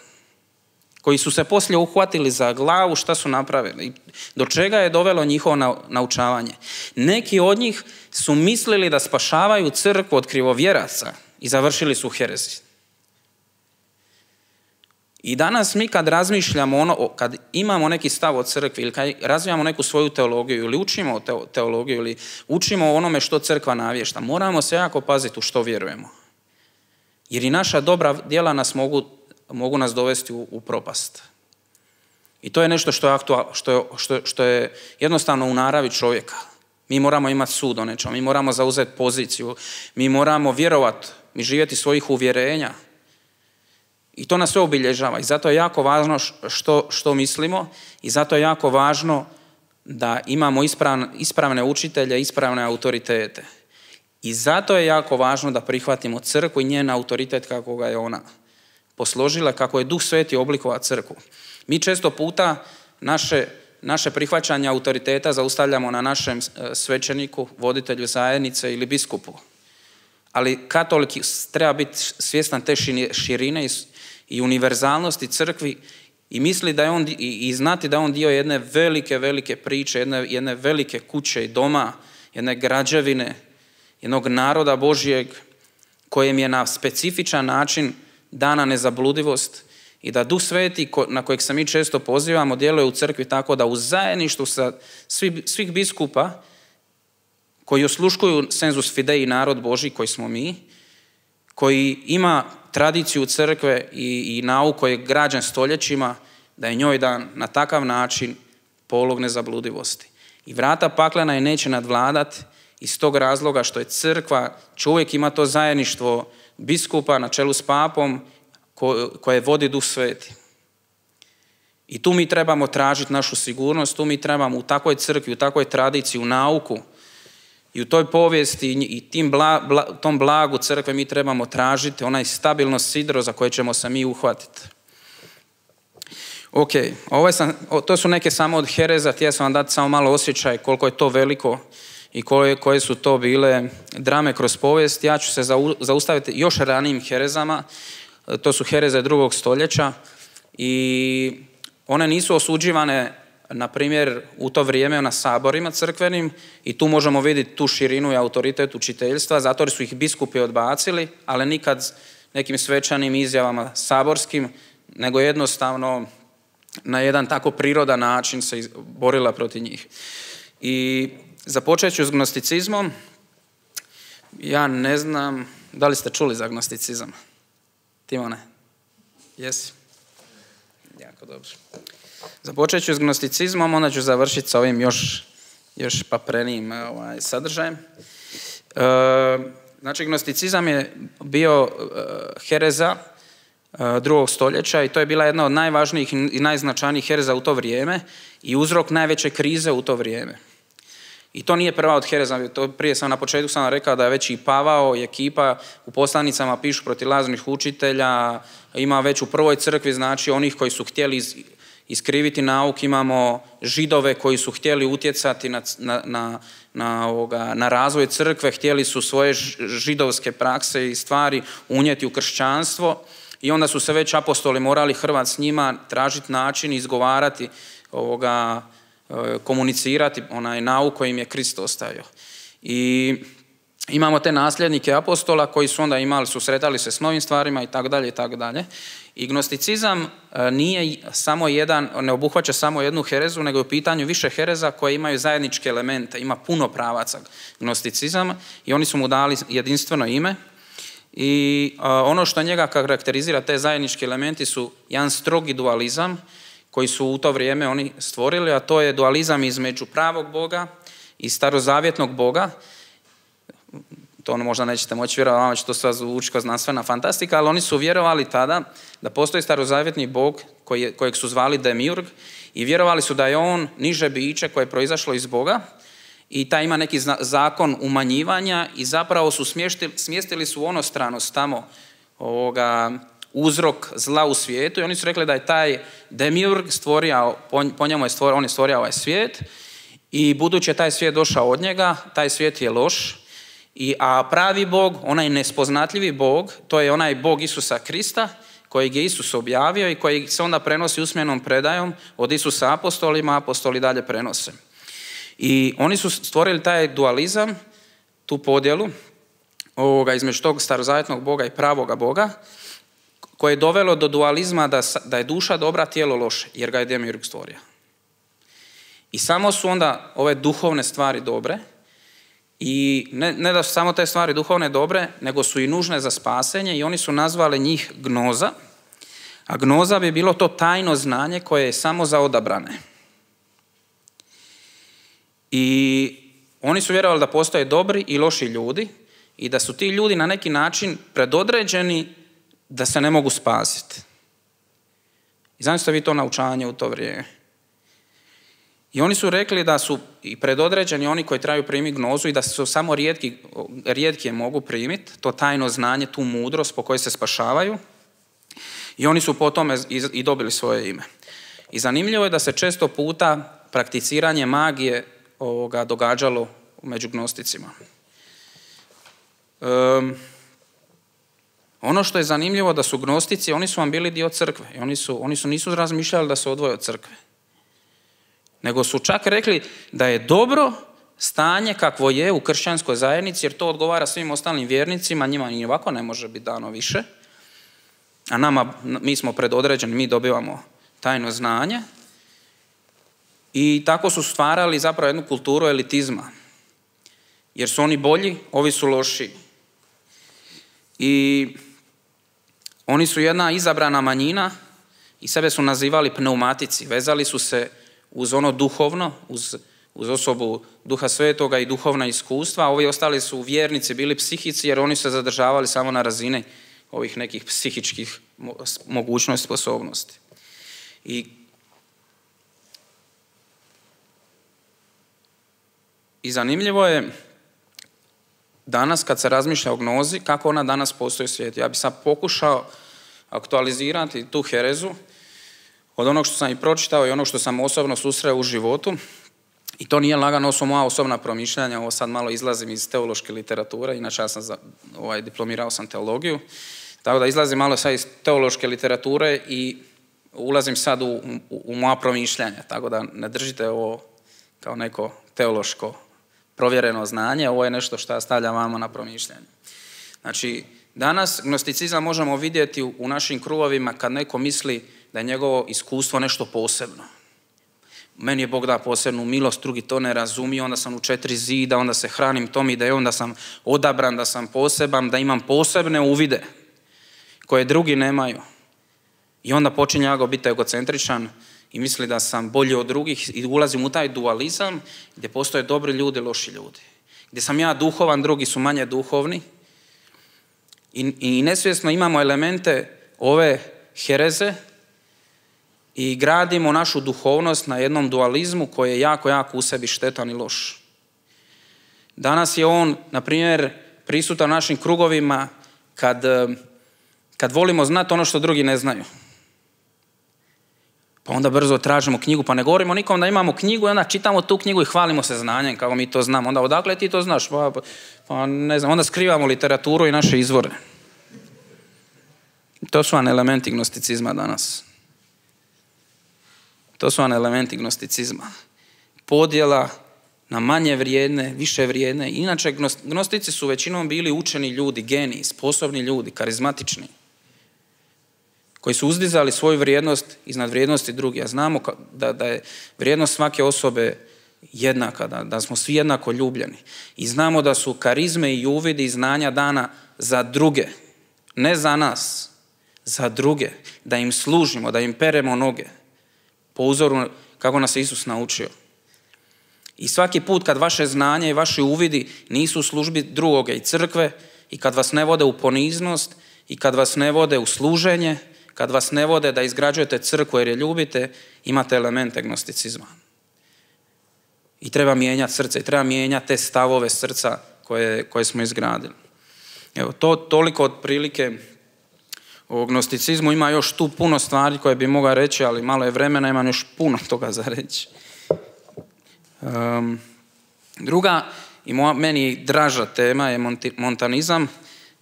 koji su se poslije uhvatili za glavu šta su napravili, do čega je dovelo njihovo naučavanje. Neki od njih su mislili da spašavaju crkvu od krivovjeraca i završili su herezi. I danas mi kad razmišljamo, ono, kad imamo neki stav o crkvi ili kad razvijamo neku svoju teologiju ili učimo teologiju ili učimo o onome što crkva navješta, moramo se jako paziti u što vjerujemo. Jer i naša dobra djela nas mogu mogu nas dovesti u, u propast. I to je nešto što je, aktual, što, je, što, što je jednostavno u naravi čovjeka. Mi moramo imati sud o nečemu, mi moramo zauzeti poziciju, mi moramo vjerovati, mi živjeti svojih uvjerenja. I to nas sve obilježava. I zato je jako važno što, što mislimo i zato je jako važno da imamo ispravne, ispravne učitelje, ispravne autoritete. I zato je jako važno da prihvatimo crkvu i njen autoritet kako ga je ona posložila, kako je Duh Sveti oblikovao crkvu. Mi često puta naše, naše prihvaćanje autoriteta zaustavljamo na našem svećeniku, voditelju zajednice ili biskupu. Ali katolik treba biti svjestan te širine i univerzalnosti crkvi i misli da je on, i, i znati da je on dio jedne velike, velike priče, jedne, jedne velike kuće i doma, jedne građevine, jednog naroda Božjeg kojem je na specifičan način dana nezabludivost i da Duh Sveti na kojeg se mi često pozivamo djeluje u crkvi tako da u zajedništvu sa svi, svih biskupa koji osluškuju senzus fidei narod Božji koji smo mi, koji ima tradiciju crkve i, i nauk koji je građen stoljećima, da je njoj dan na takav način polog nezabludivosti. I vrata paklena je neće nadvladati iz tog razloga što je crkva, čovjek ima to zajedništvo biskupa na čelu s papom ko, koje vodi Duh Sveti. I tu mi trebamo tražiti našu sigurnost, tu mi trebamo u takvoj crkvi, u takvoj tradiciji, u nauku i u toj povijesti i tim bla, bla, tom blagu crkve mi trebamo tražiti onaj stabilno sidro za koje ćemo se mi uhvatiti. Ok, ovo sam, to su neke samo od hereza, htio sam vam dati samo malo osjećaj koliko je to veliko i koje, koje su to bile drame kroz povijest. Ja ću se zaustaviti još ranijim herezama, to su hereze drugog stoljeća i one nisu osuđivane, na primjer, u to vrijeme na saborima crkvenim i tu možemo vidjeti tu širinu i autoritet učiteljstva, zato jer su ih biskupi odbacili, ali nikad nekim svečanim izjavama saborskim, nego jednostavno na jedan tako prirodan način se borila protiv njih. I započet ću s gnosticizmom. Ja ne znam, da li ste čuli za gnosticizam? Timone? Jesi? Jako dobro. Započet ću s gnosticizmom, onda ću završiti sa ovim još, još paprenijim ovaj, sadržajem. E, znači, gnosticizam je bio uh, hereza uh, drugog stoljeća i to je bila jedna od najvažnijih i najznačajnijih hereza u to vrijeme i uzrok najveće krize u to vrijeme. I to nije prva od hereza, to prije sam na početku sam rekao da je već i Pavao i ekipa u poslanicama pišu protiv lažnih učitelja, ima već u prvoj crkvi, znači onih koji su htjeli iz, iskriviti nauk, imamo židove koji su htjeli utjecati na, na, na, na, ovoga, na razvoj crkve, htjeli su svoje židovske prakse i stvari unijeti u kršćanstvo i onda su se već apostoli morali hrvati s njima, tražiti način, izgovarati ovoga, komunicirati onaj nauk koji im je Krist ostavio. I imamo te nasljednike apostola koji su onda imali, susretali se s novim stvarima i tako dalje i tako dalje. I gnosticizam nije samo jedan, ne obuhvaća samo jednu herezu, nego je u pitanju više hereza koje imaju zajedničke elemente. Ima puno pravaca gnosticizama i oni su mu dali jedinstveno ime. I ono što njega karakterizira, te zajednički elementi su jedan strogi dualizam koji su u to vrijeme oni stvorili, a to je dualizam između pravog Boga i starozavjetnog Boga. To možda nećete moći vjerovati, vama će to sve zvuči kao znanstvena fantastika, ali oni su vjerovali tada da postoji starozavjetni Bog koji, kojeg su zvali Demiurg i vjerovali su da je on niže biće koje je proizašlo iz Boga i taj ima neki zakon umanjivanja i zapravo su smještili, smjestili su onostranost tamo ovoga, uzrok zla u svijetu i oni su rekli da je taj Demiurg stvorio, po, po njemu je stvorio, on je stvorio ovaj svijet i budući je taj svijet došao od njega, taj svijet je loš, i, a pravi Bog, onaj nespoznatljivi Bog, to je onaj Bog Isusa Krista, kojeg je Isus objavio i koji se onda prenosi usmenom predajom od Isusa apostolima, apostoli dalje prenose. I oni su stvorili taj dualizam, tu podjelu ovoga, između tog starozavjetnog Boga i pravoga Boga, koje je dovelo do dualizma da, da je duša dobra, tijelo loše, jer ga je Demiurg stvorio. I samo su onda ove duhovne stvari dobre, i ne, ne da su samo te stvari duhovne dobre, nego su i nužne za spasenje i oni su nazvali njih gnoza, a gnoza bi bilo to tajno znanje koje je samo za odabrane. I oni su vjerovali da postoje dobri i loši ljudi i da su ti ljudi na neki način predodređeni da se ne mogu spasiti. I zamislite vi to naučanje u to vrijeme. I oni su rekli da su i predodređeni oni koji trebaju primiti gnozu i da su samo rijetki, rijetki je mogu primiti, to tajno znanje, tu mudrost po kojoj se spašavaju. I oni su po tome i dobili svoje ime. I zanimljivo je da se često puta prakticiranje magije ovoga događalo među gnosticima. Um, ono što je zanimljivo da su gnostici, oni su vam bili dio crkve i oni su, oni su nisu razmišljali da se odvoje od crkve. Nego su čak rekli da je dobro stanje kakvo je u kršćanskoj zajednici, jer to odgovara svim ostalim vjernicima, njima i ovako ne može biti dano više, a nama, mi smo predodređeni, mi dobivamo tajno znanje i tako su stvarali zapravo jednu kulturu elitizma, jer su oni bolji, ovi su loši. I oni su jedna izabrana manjina i sebe su nazivali pneumatici, vezali su se uz ono duhovno, uz, uz osobu Duha Svetoga i duhovna iskustva, a ovi ostali su vjernici, bili psihici, jer oni se zadržavali samo na razini ovih nekih psihičkih mogućnosti, sposobnosti. I, i zanimljivo je danas kad se razmišlja o gnozi, kako ona danas postoji u svijetu. Ja bih sad pokušao aktualizirati tu herezu od onog što sam i pročitao i onog što sam osobno susreo u životu. I to nije lagano, ovo su moja osobna promišljanja, ovo sad malo izlazim iz teološke literature, inače ja sam za, ovaj, diplomirao sam teologiju, tako da izlazim malo sad iz teološke literature i ulazim sad u, u, u moja promišljanja, tako da ne držite ovo kao neko teološko provjereno znanje, ovo je nešto što ja stavljam vama na promišljanje. Znači, danas gnosticizam možemo vidjeti u, u našim krugovima kad neko misli da je njegovo iskustvo nešto posebno. Meni je Bog da posebnu milost, drugi to ne razumiju, onda sam u četiri zida, onda se hranim tom idejom da sam odabran, da sam poseban, da imam posebne uvide koje drugi nemaju. I onda počinje ja biti egocentričan i misli da sam bolji od drugih i ulazim u taj dualizam gdje postoje dobri ljudi, loši ljudi. Gdje sam ja duhovan, drugi su manje duhovni. I, i nesvjesno imamo elemente ove hereze i gradimo našu duhovnost na jednom dualizmu koji je jako, jako u sebi štetan i loš. Danas je on, na primjer, prisutan u našim krugovima kad, kad volimo znati ono što drugi ne znaju. Pa onda brzo tražimo knjigu, pa ne govorimo nikom da imamo knjigu i onda čitamo tu knjigu i hvalimo se znanjem kako mi to znamo. Onda odakle ti to znaš? Pa, pa ne znam, onda skrivamo literaturu i naše izvore. To su vam elementi gnosticizma danas. To su vam elementi gnosticizma. Podjela na manje vrijedne, više vrijedne. Inače, gnostici su većinom bili učeni ljudi, geniji, sposobni ljudi, karizmatični, koji su uzdizali svoju vrijednost iznad vrijednosti drugih. A znamo da, da je vrijednost svake osobe jednaka, da, da smo svi jednako ljubljeni. I znamo da su karizme i uvidi i znanja dana za druge, ne za nas, za druge, da im služimo, da im peremo noge, po uzoru kako nas je Isus naučio. I svaki put kad vaše znanje i vaši uvidi nisu u službi drugoga i crkve i kad vas ne vode u poniznost i kad vas ne vode u služenje, kad vas ne vode da izgrađujete crkvu jer je ljubite, imate elemente gnosticizma. I treba mijenjati srce, i treba mijenjati te stavove srca koje, koje smo izgradili. Evo, to toliko otprilike o gnosticizmu. Ima još tu puno stvari koje bi mogao reći, ali malo je vremena, imam još puno toga za reći. Um, druga i moja, meni draža tema je monti, montanizam.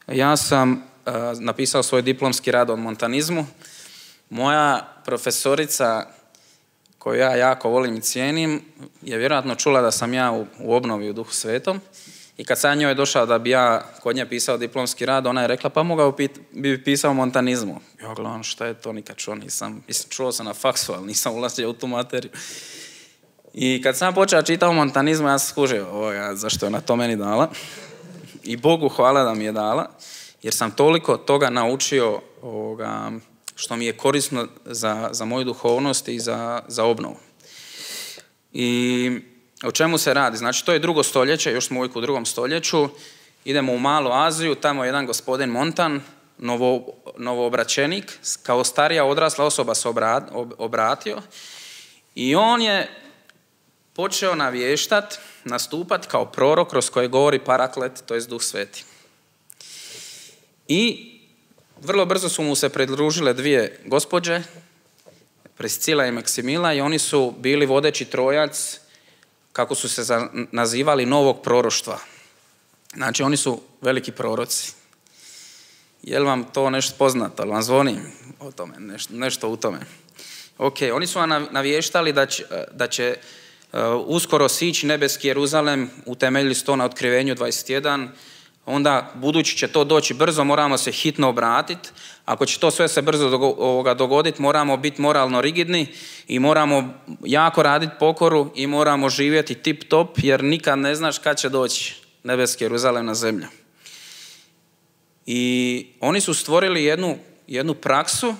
Ja sam uh, napisao svoj diplomski rad o montanizmu. Moja profesorica, koju ja jako volim i cijenim, je vjerojatno čula da sam ja u, u obnovi u Duhu Svetom. I kad sam njoj došao da bi ja kod nje pisao diplomski rad, ona je rekla pa mogao bi pisao o montanizmu. Ja gledam šta je to, nikad čuo nisam. Mislim, čuo sam na faksu, ali nisam ulazio u tu materiju. I kad sam počeo čitao o montanizmu, ja sam skužio, o, ja, zašto je ona to meni dala. I Bogu hvala da mi je dala, jer sam toliko toga naučio ovoga, što mi je korisno za, za moju duhovnost i za, za obnovu. I o čemu se radi? Znači, to je drugo stoljeće, još smo uvijek u drugom stoljeću, idemo u Malu Aziju, tamo je jedan gospodin Montan, novo, novoobraćenik, kao starija odrasla osoba se obratio i on je počeo navještat, nastupat kao prorok kroz koje govori Paraklet, to je Duh Sveti. I vrlo brzo su mu se pridružile dvije gospođe, Priscila i Maksimila, i oni su bili vodeći trojac, kako su se nazivali, novog proroštva. Znači, oni su veliki proroci. Je li vam to nešto poznato? Ali vam zvoni o tome, nešto, nešto u tome. Ok, oni su vam navještali da će, da će uh, uskoro sići nebeski Jeruzalem, utemeljili su to na Otkrivenju dvadeset jedan, onda budući će to doći brzo, moramo se hitno obratiti. Ako će to sve se brzo dogoditi, moramo biti moralno rigidni i moramo jako raditi pokoru i moramo živjeti tip top, jer nikad ne znaš kad će doći nebeski Jeruzalem na zemlju. I oni su stvorili jednu, jednu praksu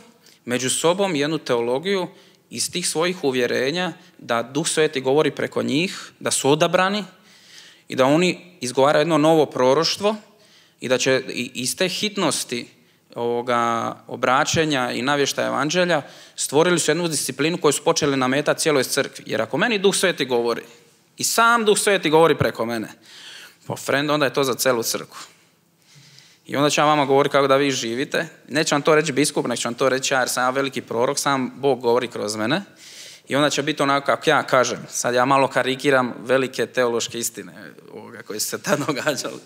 među sobom, jednu teologiju iz tih svojih uvjerenja da Duh Sveti govori preko njih, da su odabrani i da oni izgovaraju jedno novo proroštvo i da će iz te hitnosti ovoga obraćenja i navještaja evanđelja stvorili su jednu disciplinu koju su počeli nametati cijeloj crkvi. Jer ako meni Duh Sveti govori i sam Duh Sveti govori preko mene, pa friend, onda je to za celu crkvu. I onda će ja vama govoriti kako da vi živite. Neće vam to reći biskup, nek će vam to reći ja, jer sam ja veliki prorok, sam Bog govori kroz mene. I onda će biti onako kako ja kažem. Sad ja malo karikiram velike teološke istine ovoga, koje su se tad događale.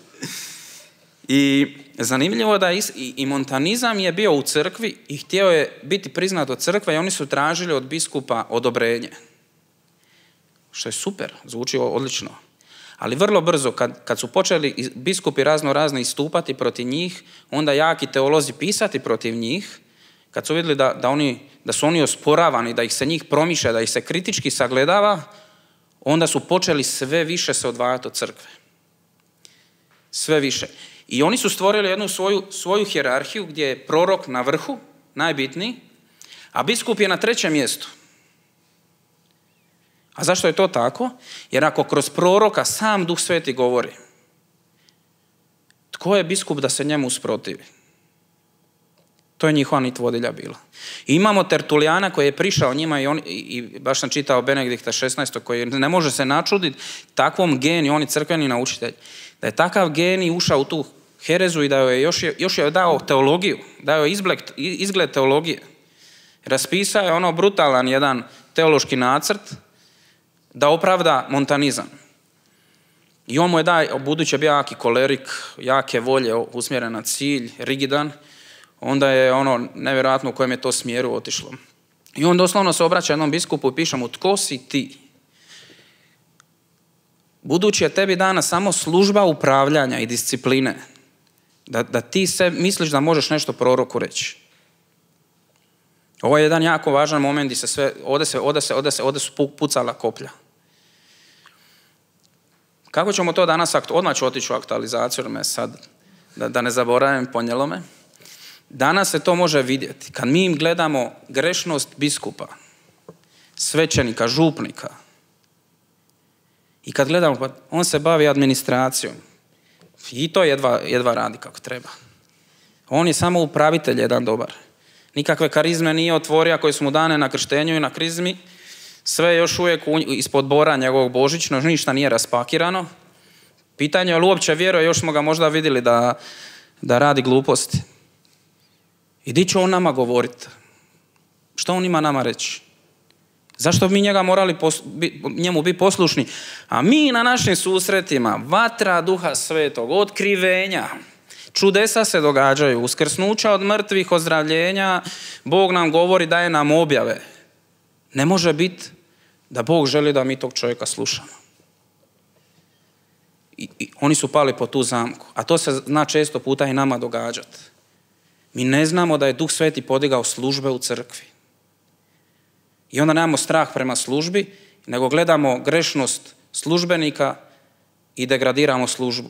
I zanimljivo da i, i montanizam je bio u crkvi i htio je biti priznat od crkve i oni su tražili od biskupa odobrenje. Što je super, zvuči odlično. Ali vrlo brzo, kad, kad su počeli biskupi razno razno istupati protiv njih, onda jaki teolozi pisati protiv njih, kad su vidjeli da, da, oni, da su oni osporavani, da ih se njih promišlja, da ih se kritički sagledava, onda su počeli sve više se odvajati od crkve. Sve više. I oni su stvorili jednu svoju, svoju hijerarhiju gdje je prorok na vrhu, najbitniji, a biskup je na trećem mjestu. A zašto je to tako? Jer ako kroz proroka sam Duh Sveti govori, tko je biskup da se njemu usprotivi? To je njihova nit vodilja bila. I imamo Tertulijana koji je prišao njima i, on, i baš sam čitao Benedikta šesnaestog koji ne može se načuditi takvom geniju, on je crkveni naučitelj, da je takav genij ušao u tu herezu i da je još, još je dao teologiju, dao je izgled, izgled teologije. Raspisao je ono brutalan jedan teološki nacrt da opravda montanizam. I on mu je dao, budući je bio jaki kolerik, jake volje, usmjeren na cilj, rigidan, onda je ono nevjerojatno u kojem je to smjeru otišlo. I on doslovno se obraća jednom biskupu i piše mu, tko si ti? Budući je tebi dana samo služba upravljanja i discipline, da, da ti se misliš da možeš nešto proroku reći. Ovo je jedan jako važan moment gdje se sve, ovdje se, ovdje se, ovdje se, ovdje su pucala koplja. Kako ćemo to danas, odmah ću otići u aktualizaciju, jer me sad, da, da ne zaboravim, ponijelo me. Danas se to može vidjeti. Kad mi im gledamo grešnost biskupa, svećenika, župnika, i kad gledamo, pa on se bavi administracijom, i to jedva, jedva radi kako treba. On je samo upravitelj jedan dobar. Nikakve karizme nije otvorio koje su mu dane na krštenju i na krizmi. Sve je još uvijek ispod bora njegovog božićnog, ništa nije raspakirano. Pitanje je li uopće vjeruje, još smo ga možda vidjeli da, da radi gluposti. I di će on nama govoriti? Što on ima nama reći? Zašto bi mi njega morali pos, bi, njemu biti poslušni? A mi na našim susretima, vatra Duha Svetog, otkrivenja, čudesa se događaju, uskrsnuća od mrtvih, ozdravljenja, Bog nam govori, daje nam objave. Ne može biti da Bog želi da mi tog čovjeka slušamo. I, i oni su pali po tu zamku. A to se zna često puta i nama događati. Mi ne znamo da je Duh Sveti podigao službe u crkvi. I onda nemamo strah prema službi, nego gledamo grešnost službenika i degradiramo službu.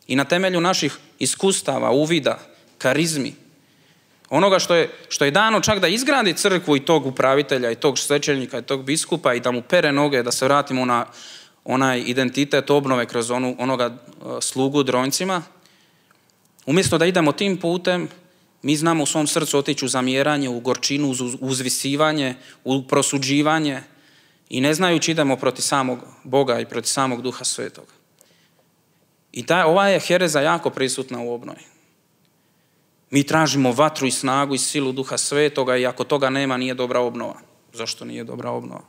I na temelju naših iskustava, uvida, karizmi, onoga što je, što je dano čak da izgradi crkvu i tog upravitelja, i tog svećenika, i tog biskupa i da mu pere noge, da se vratimo na onaj identitet obnove kroz onu, onoga slugu dronjcima, umjesto da idemo tim putem, mi znamo u svom srcu otići u zamjeranje, u gorčinu, uz uzvisivanje, u prosuđivanje i ne znajući idemo protiv samog Boga i protiv samog Duha Svetog. I ta, ova je hereza jako prisutna u obnovi. Mi tražimo vatru i snagu i silu Duha Svetoga i ako toga nema, nije dobra obnova. Zašto nije dobra obnova?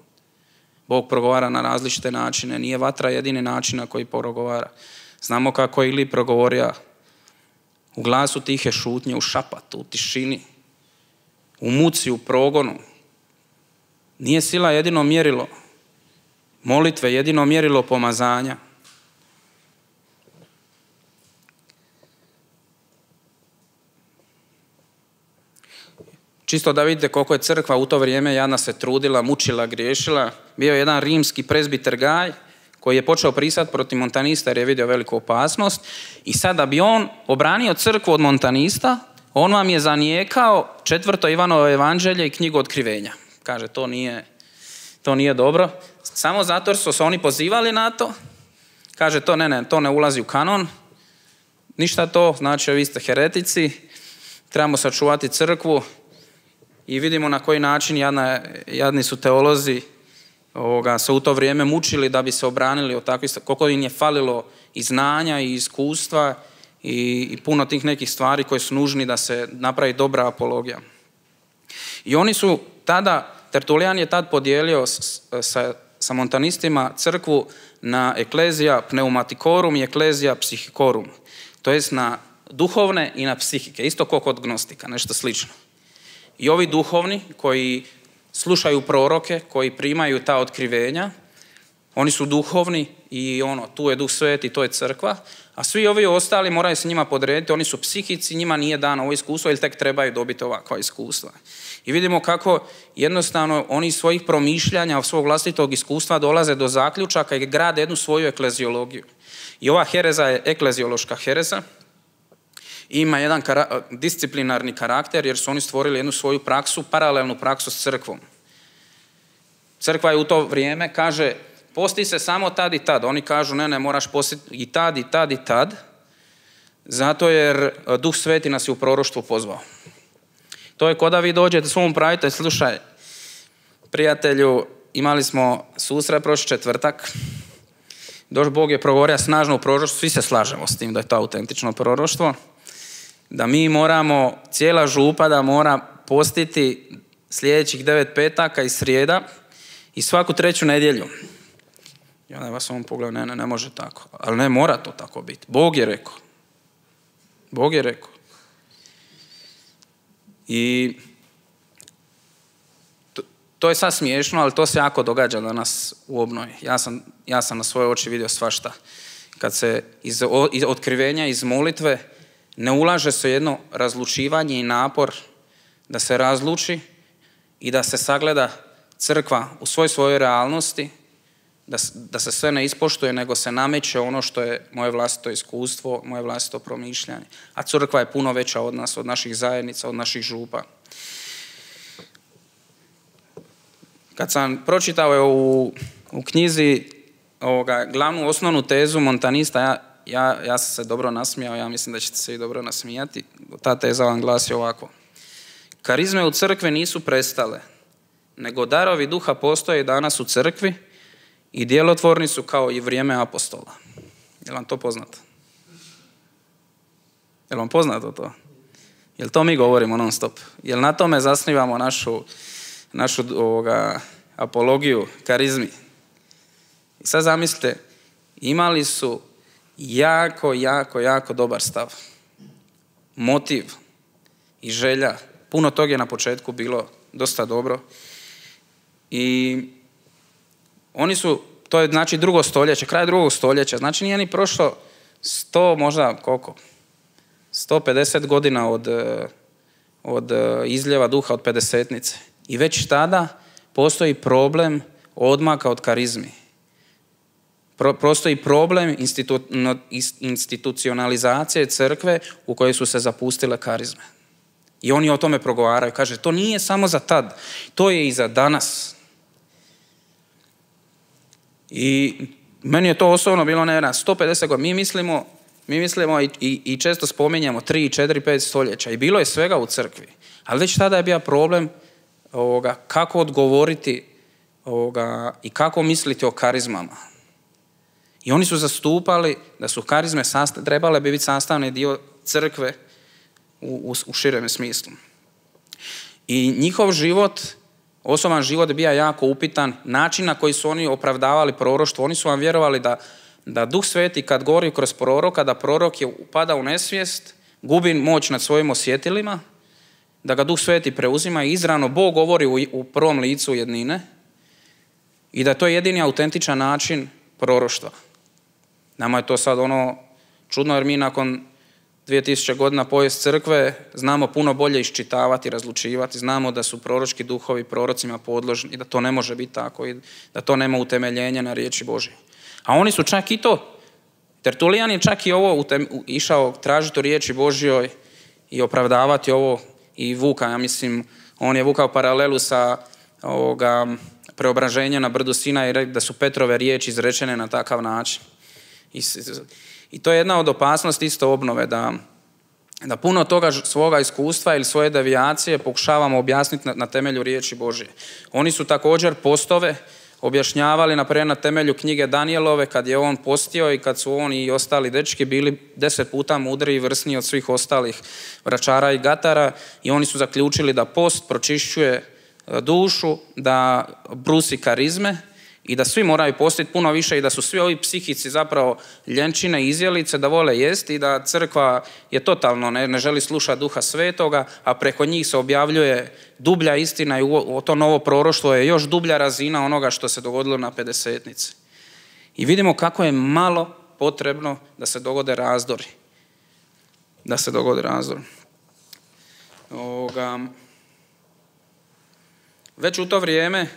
Bog progovara na različite načine. Nije vatra jedini način na koji progovara. Znamo kako je Ili progovorio u glasu tihe šutnje, u šapatu, u tišini, u muci, u progonu. Nije sila jedino mjerilo molitve, jedino mjerilo pomazanja. Čisto da vidite koliko je crkva u to vrijeme jadna se trudila, mučila, griješila. Bio je jedan rimski prezbiter Gaj koji je počeo prisati protiv montanista jer je vidio veliku opasnost. I sad da bi on obranio crkvu od montanista, on vam je zanijekao četvrto Ivanovo evanđelje i knjigu Otkrivenja. Kaže, to nije, to nije dobro. Samo zato jer su se oni pozivali na to. Kaže, to ne, ne, to ne ulazi u kanon. Ništa to, znači vi ste heretici, trebamo sačuvati crkvu. I vidimo na koji način jadna, jadni su teolozi ovoga, se u to vrijeme mučili da bi se obranili od takvih, koliko im je falilo i znanja i iskustva i, i puno tih nekih stvari koje su nužni da se napravi dobra apologija. I oni su tada, Tertulijan je tad podijelio sa, sa montanistima crkvu na eklezija pneumaticorum i eklezija psychicorum, to jest na duhovne i na psihike, isto kao kod gnostika, nešto slično. I ovi duhovni koji slušaju proroke, koji primaju ta otkrivenja, oni su duhovni i ono, tu je Duh Sveti, to je crkva, a svi ovi ostali moraju se njima podrediti, oni su psihici, njima nije dano ovo iskustvo ili tek trebaju dobiti ovakva iskustva. I vidimo kako jednostavno oni iz svojih promišljanja, svog vlastitog iskustva dolaze do zaključaka i grade jednu svoju ekleziologiju. I ova hereza je ekleziološka hereza, ima jedan kara- disciplinarni karakter jer su oni stvorili jednu svoju praksu, paralelnu praksu s crkvom. Crkva je u to vrijeme, kaže, posti se samo tad i tad. Oni kažu, ne, ne, moraš postiti i tad, i tad, i tad, zato jer Duh Sveti nas je u proroštvo pozvao. To je ko da vi dođete svom upravitelju, slušaj, prijatelju, imali smo susret prošli četvrtak, doš Bog je progovorio snažno u proroštvu, svi se slažemo s tim da je to autentično proroštvo, da mi moramo, cijela župa da mora postiti sljedećih devet petaka i srijeda i svaku treću nedjelju. Ja ne vas ovom pogledu, ne, ne, ne može tako. Ali ne mora to tako biti. Bog je rekao. Bog je rekao. I to, to je sad smiješno, ali to se jako događa danas u obnovi. Ja sam, ja sam na svoje oči vidio svašta. Kad se iz, iz otkrivenja, iz molitve, ne ulaže se jedno razlučivanje i napor da se razluči i da se sagleda crkva u svoj svojoj realnosti, da, da se sve ne ispoštuje, nego se nameće ono što je moje vlastito iskustvo, moje vlastito promišljanje. A crkva je puno veća od nas, od naših zajednica, od naših župa. Kad sam pročitao u, u knjizi ovoga, glavnu osnovnu tezu montanista, ja, ja, ja sam se dobro nasmijao, ja mislim da ćete se i dobro nasmijati. Ta teza vam glasi ovako. Karizme u crkvi nisu prestale, nego darovi duha postoje danas u crkvi i djelotvorni su kao i vrijeme apostola. Je li vam to poznato? Je li vam poznato to? Je li to mi govorimo non stop? Je li na tome zasnivamo našu, našu ovoga, apologiju, karizmi? I sad zamislite, imali su jako, jako, jako dobar stav. Motiv i želja. Puno toga je na početku bilo dosta dobro. I oni su, to je znači drugo stoljeće, kraj drugog stoljeća, znači nije ni prošlo sto, možda koliko? sto pedeset godina od, od izljeva duha, od pedesetnice. I već tada postoji problem odmaka od karizmi. Pro, postoji problem institu, no, institucionalizacije crkve u kojoj su se zapustile karizme. I oni o tome progovaraju. Kaže, to nije samo za tad, to je i za danas. I meni je to osobno bilo ne, sto pedeset godina. Mi mislimo, mi mislimo i, i, i često spominjamo tri, četiri, pet stoljeća. I bilo je svega u crkvi. Ali već tada je bio problem ovoga, kako odgovoriti ovoga, i kako misliti o karizmama. I oni su zastupali da su karizme sastav, trebale bi biti sastavni dio crkve u, u, u širem smislu. I njihov život, osoban život je bio jako upitan, način na koji su oni opravdavali proroštvo. Oni su vam vjerovali da, da Duh Sveti kad govori kroz proroka, da prorok je upada u nesvijest, gubi moć nad svojim osjetilima, da ga Duh Sveti preuzima i izravno Bog govori u, u prvom licu jednine i da to je jedini autentičan način proroštva. Nama je to sad ono čudno jer mi nakon dvije tisuće godina povijest crkve znamo puno bolje iščitavati, razlučivati, znamo da su proročki duhovi prorocima podložni i da to ne može biti tako i da to nema utemeljenja na riječi Božje. A oni su čak i to, Tertulijan je čak i ovo utem, išao tražiti u riječi Božjoj i opravdavati ovo i vuka, ja mislim, on je vukao paralelu sa ovoga preobraženja na brdu Sina i rekao da su Petrove riječi izrečene na takav način. I, I to je jedna od opasnosti isto obnove, da, da puno toga svoga iskustva ili svoje devijacije pokušavamo objasniti na, na temelju riječi Božje. Oni su također postove objašnjavali, naprimjer na temelju knjige Danijelove, kad je on postio i kad su on i ostali dečki bili deset puta mudriji i vrsniji od svih ostalih vračara i gatara, i oni su zaključili da post pročišćuje dušu, da brusi karizme i da svi moraju postiti puno više i da su svi ovi psihici zapravo ljenčine i izjelice, da vole jesti i da crkva je totalno ne, ne želi slušati Duha Svetoga, a preko njih se objavljuje dublja istina i u to novo proroštvo je još dublja razina onoga što se dogodilo na pedesetnici. I vidimo kako je malo potrebno da se dogode razdori. Da se dogode razdori. Ovoga, već u to vrijeme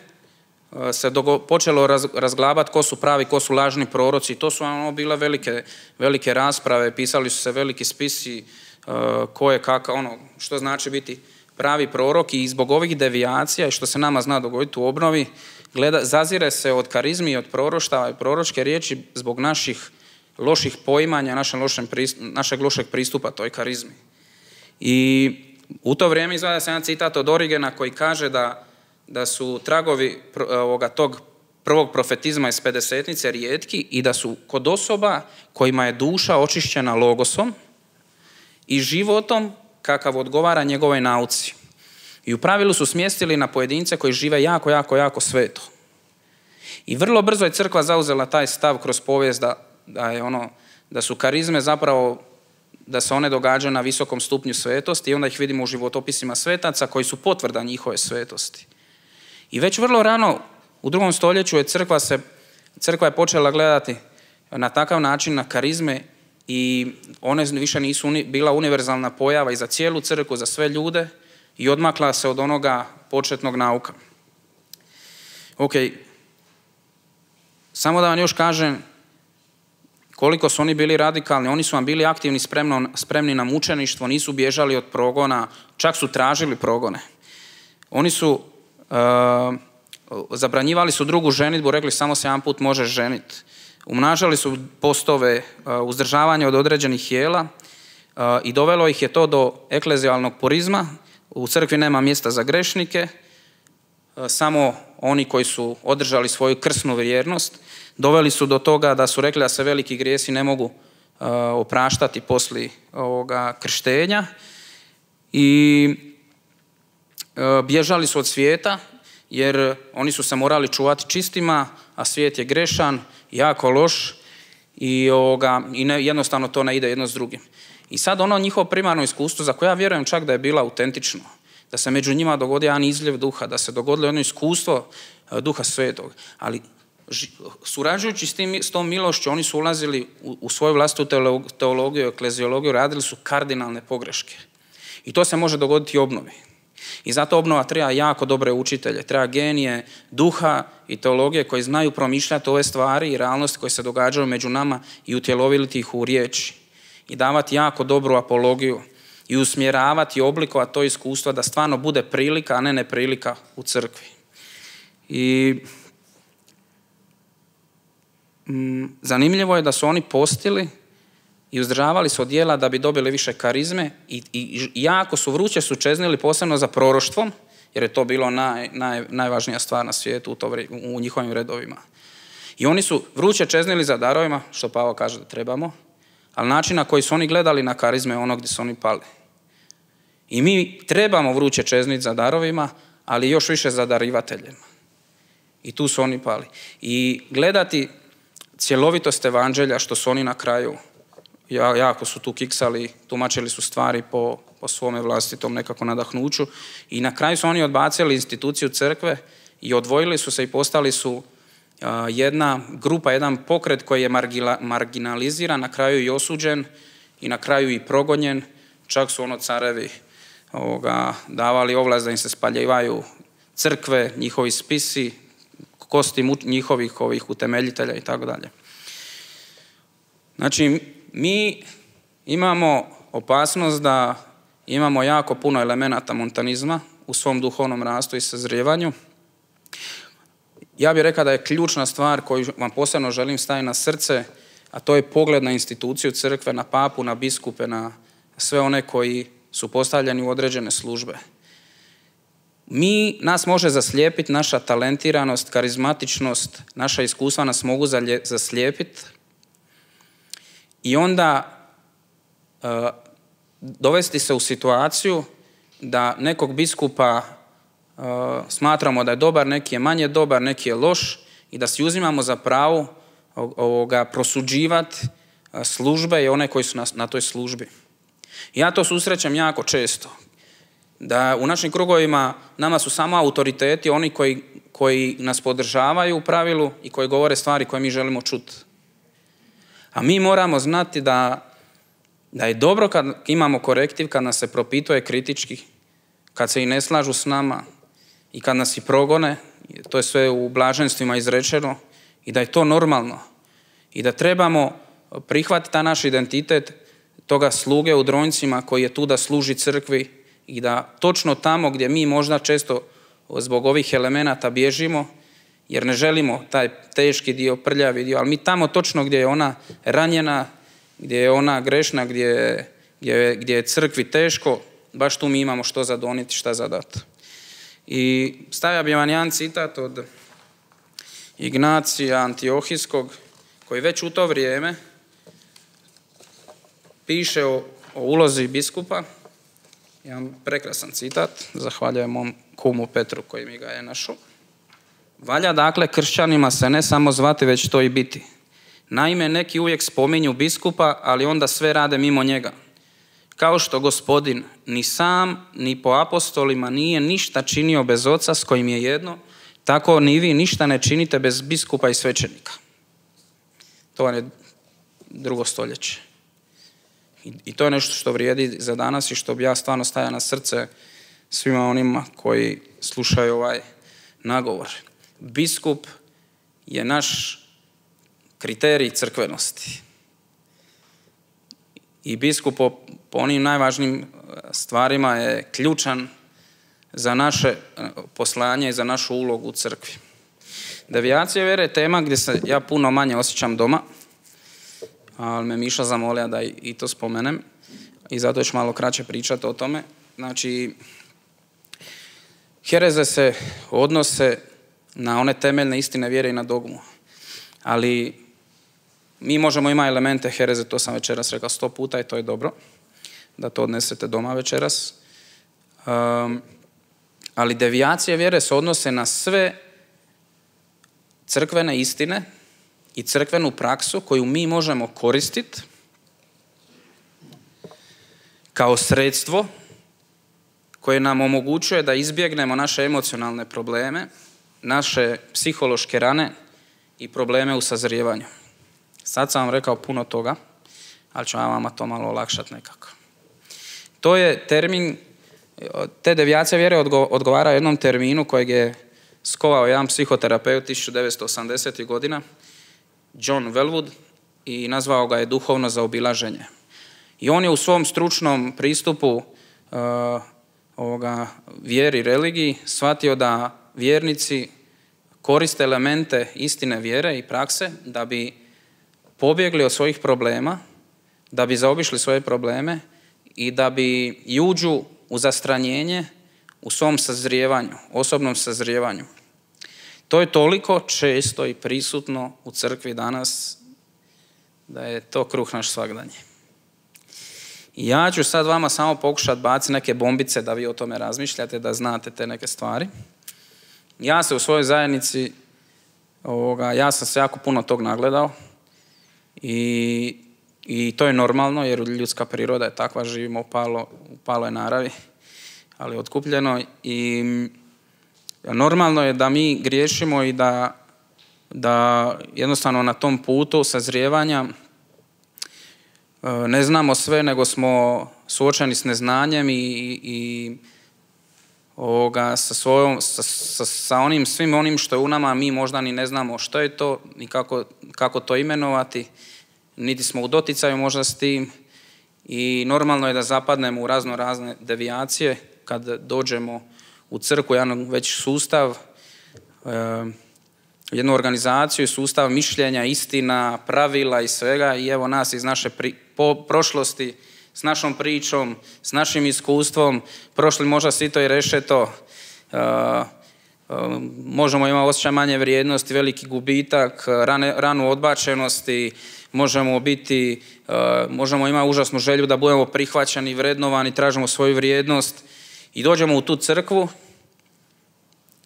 se dogo, počelo raz, razglabati ko su pravi, ko su lažni proroci. To su ono bile velike, velike rasprave, pisali su se veliki spisi uh, ko je kakav, ono, što znači biti pravi prorok, i zbog ovih devijacija i što se nama zna dogoditi u obnovi, gleda, zazire se od karizmi i od proroštava i proročke riječi zbog naših loših poimanja, našeg lošeg pristupa, našeg lošeg pristupa toj karizmi. I u to vrijeme izvada se jedan citat od Origena koji kaže da da su tragovi ovoga, tog prvog profetizma iz pedesetnice rijetki i da su kod osoba kojima je duša očišćena logosom i životom kakav odgovara njegovoj nauci. I u pravilu su smjestili na pojedince koji žive jako, jako, jako sveto. I vrlo brzo je crkva zauzela taj stav kroz povijest da, da, je ono, da su karizme zapravo, da se one događaju na visokom stupnju svetosti i onda ih vidimo u životopisima svetaca koji su potvrda njihove svetosti. I već vrlo rano u drugom stoljeću je crkva, se, crkva je počela gledati na takav način na karizme i one više nisu uni, bila univerzalna pojava i za cijelu crkvu, za sve ljude, i odmakla se od onoga početnog nauka. Ok, samo da vam još kažem koliko su oni bili radikalni. Oni su vam bili aktivni, spremno, spremni na mučeništvo, nisu bježali od progona, čak su tražili progone. Oni su Uh, zabranjivali su drugu ženidbu, rekli samo se jedan put možeš ženiti. Umnažali su postove, uh, uzdržavanje od određenih jela uh, i dovelo ih je to do eklezijalnog purizma. U crkvi nema mjesta za grešnike, uh, samo oni koji su održali svoju krsnu vjernost. Doveli su do toga da su rekli da se veliki grijesi ne mogu uh, opraštati poslije ovoga krštenja i bježali su od svijeta jer oni su se morali čuvati čistima, a svijet je grešan, jako loš i, ovoga, i ne, jednostavno to ne ide jedno s drugim. I sad ono njihovo primarno iskustvo, za koje ja vjerujem čak da je bilo autentično, da se među njima dogodi jedan izljev duha, da se dogodilo jedno iskustvo Duha Svetog, ali surađujući s, tim, s tom milošću oni su ulazili u, u svoju vlastitu teologiju, ekleziologiju, radili su kardinalne pogreške. I to se može dogoditi i obnovi. I zato obnova treba jako dobre učitelje, treba genije duha i teologije koji znaju promišljati ove stvari i realnosti koje se događaju među nama i utjeloviti ih u riječi. I davati jako dobru apologiju i usmjeravati i oblikovati to iskustvo da stvarno bude prilika, a ne neprilika u crkvi. I mm, zanimljivo je da su oni postili i uzdržavali se od djela da bi dobili više karizme i, i jako su vruće su čeznili posebno za proroštvom, jer je to bilo naj, naj, najvažnija stvar na svijetu u, to, u njihovim redovima. I oni su vruće čeznili za darovima, što Pavao kaže da trebamo, ali način na koji su oni gledali na karizme je ono gdje su oni pali. I mi trebamo vruće čezniti za darovima, ali još više za darivateljima. I tu su oni pali. I gledati cjelovitost evanđelja, što su oni na kraju jako su tu kiksali, tumačili su stvari po, po svome vlastitom nekako nadahnuću i na kraju su oni odbacili instituciju crkve i odvojili su se i postali su uh, jedna grupa, jedan pokret koji je margila, marginaliziran, na kraju i osuđen i na kraju i progonjen. Čak su ono carevi ovoga, davali ovlast da im se spaljivaju crkve, njihovi spisi, kosti njihovih ovih utemeljitelja i tako dalje. Znači, mi imamo opasnost da imamo jako puno elemenata montanizma u svom duhovnom rastu i sazrijevanju. Ja bih rekao da je ključna stvar koju vam posebno želim staviti na srce, a to je pogled na instituciju crkve, na papu, na biskupe, na sve one koji su postavljeni u određene službe. Mi, nas može zaslijepiti naša talentiranost, karizmatičnost, naša iskustva nas mogu zaslijepiti i onda uh, dovesti se u situaciju da nekog biskupa uh, smatramo da je dobar, neki je manje dobar, neki je loš i da si uzimamo za pravo ovoga prosuđivati službe i one koji su na, na toj službi. Ja to susrećem jako često. Da u našim krugovima nama su samo autoriteti, oni koji, koji nas podržavaju u pravilu i koji govore stvari koje mi želimo čuti. A mi moramo znati da, da je dobro kad imamo korektiv, kad nas se propituje kritički, kad se i ne slažu s nama i kad nas i progone, to je sve u blaženstvima izrečeno, i da je to normalno. I da trebamo prihvatiti taj naš identitet toga sluge u Dronjcima koji je tu da služi crkvi i da točno tamo gdje mi možda često zbog ovih elemenata bježimo, jer ne želimo taj teški dio, prljavi dio, ali mi tamo točno gdje je ona ranjena, gdje je ona grešna, gdje, gdje, gdje je crkvi teško, baš tu mi imamo što zadoniti, šta zadati. I stavio bi vam jedan citat od Ignacija Antiohijskog, koji već u to vrijeme piše o, o ulozi biskupa. Jedan prekrasan citat, zahvaljujem mom kumu Petru koji mi ga je našao. Valja dakle kršćanima se ne samo zvati, već to i biti. Naime, neki uvijek spominju biskupa, ali onda sve rade mimo njega. Kao što Gospodin ni sam, ni po apostolima nije ništa činio bez oca s kojim je jedno, tako ni vi ništa ne činite bez biskupa i svećenika. To vam je drugo stoljeće. I, I to je nešto što vrijedi za danas i što bi ja stvarno stavio na srce svima onima koji slušaju ovaj nagovor. Biskup je naš kriterij crkvenosti. I biskup po, po onim najvažnijim stvarima je ključan za naše poslanje i za našu ulogu u crkvi. Devijacija vjere je tema gdje se ja puno manje osjećam doma, ali me Miša zamolio da i to spomenem i zato ću malo kraće pričati o tome. Znači, hereze se odnose na one temeljne istine vjere i na dogmu, ali mi možemo imati elemente hereze, to sam večeras rekao sto puta i to je dobro, da to odnesete doma večeras. Um, ali devijacije vjere se odnose na sve crkvene istine i crkvenu praksu koju mi možemo koristiti kao sredstvo koje nam omogućuje da izbjegnemo naše emocionalne probleme, naše psihološke rane i probleme u sazrijevanju. Sad sam vam rekao puno toga, ali ću vam vama to malo olakšati nekako. To je termin, te devijacije vjere odgovara jednom terminu kojeg je skovao jedan psihoterapeut tisuću devetsto osamdesetih godina, John Welwood, i nazvao ga je duhovno zaobilaženje. I on je u svom stručnom pristupu uh, ovoga, vjeri, religiji, shvatio da vjernici koriste elemente istine vjere i prakse da bi pobjegli od svojih problema, da bi zaobišli svoje probleme i da bi uđu u zastranjenje u svom sazrijevanju, osobnom sazrijevanju. To je toliko često i prisutno u crkvi danas da je to kruh naš svagdanje. I ja ću sad vama samo pokušati baciti neke bombice da vi o tome razmišljate, da znate te neke stvari. Ja se u svojoj zajednici, ovoga, ja sam se jako puno tog nagledao i, i to je normalno jer ljudska priroda je takva, živimo u palo, u paloj naravi, ali otkupljeno i normalno je da mi griješimo i da, da jednostavno na tom putu sazrijevanja ne znamo sve, nego smo suočeni s neznanjem i, i ovoga, sa, svojom, sa, sa, sa onim, svim onim što je u nama, mi možda ni ne znamo što je to, ni kako, kako to imenovati, niti smo u doticaju možda s tim i normalno je da zapadnemo u razno razne devijacije kad dođemo u crkvu, jedan već sustav, jednu organizaciju, sustav mišljenja, istina, pravila i svega i evo nas iz naše pri, po, prošlosti, s našom pričom, s našim iskustvom, prošli možda sito i rešeto možemo imati osjećaj manje vrijednosti, veliki gubitak, rane, ranu odbačenosti, možemo biti, možemo imati užasnu želju da budemo prihvaćeni, vrednovani, tražimo svoju vrijednost i dođemo u tu crkvu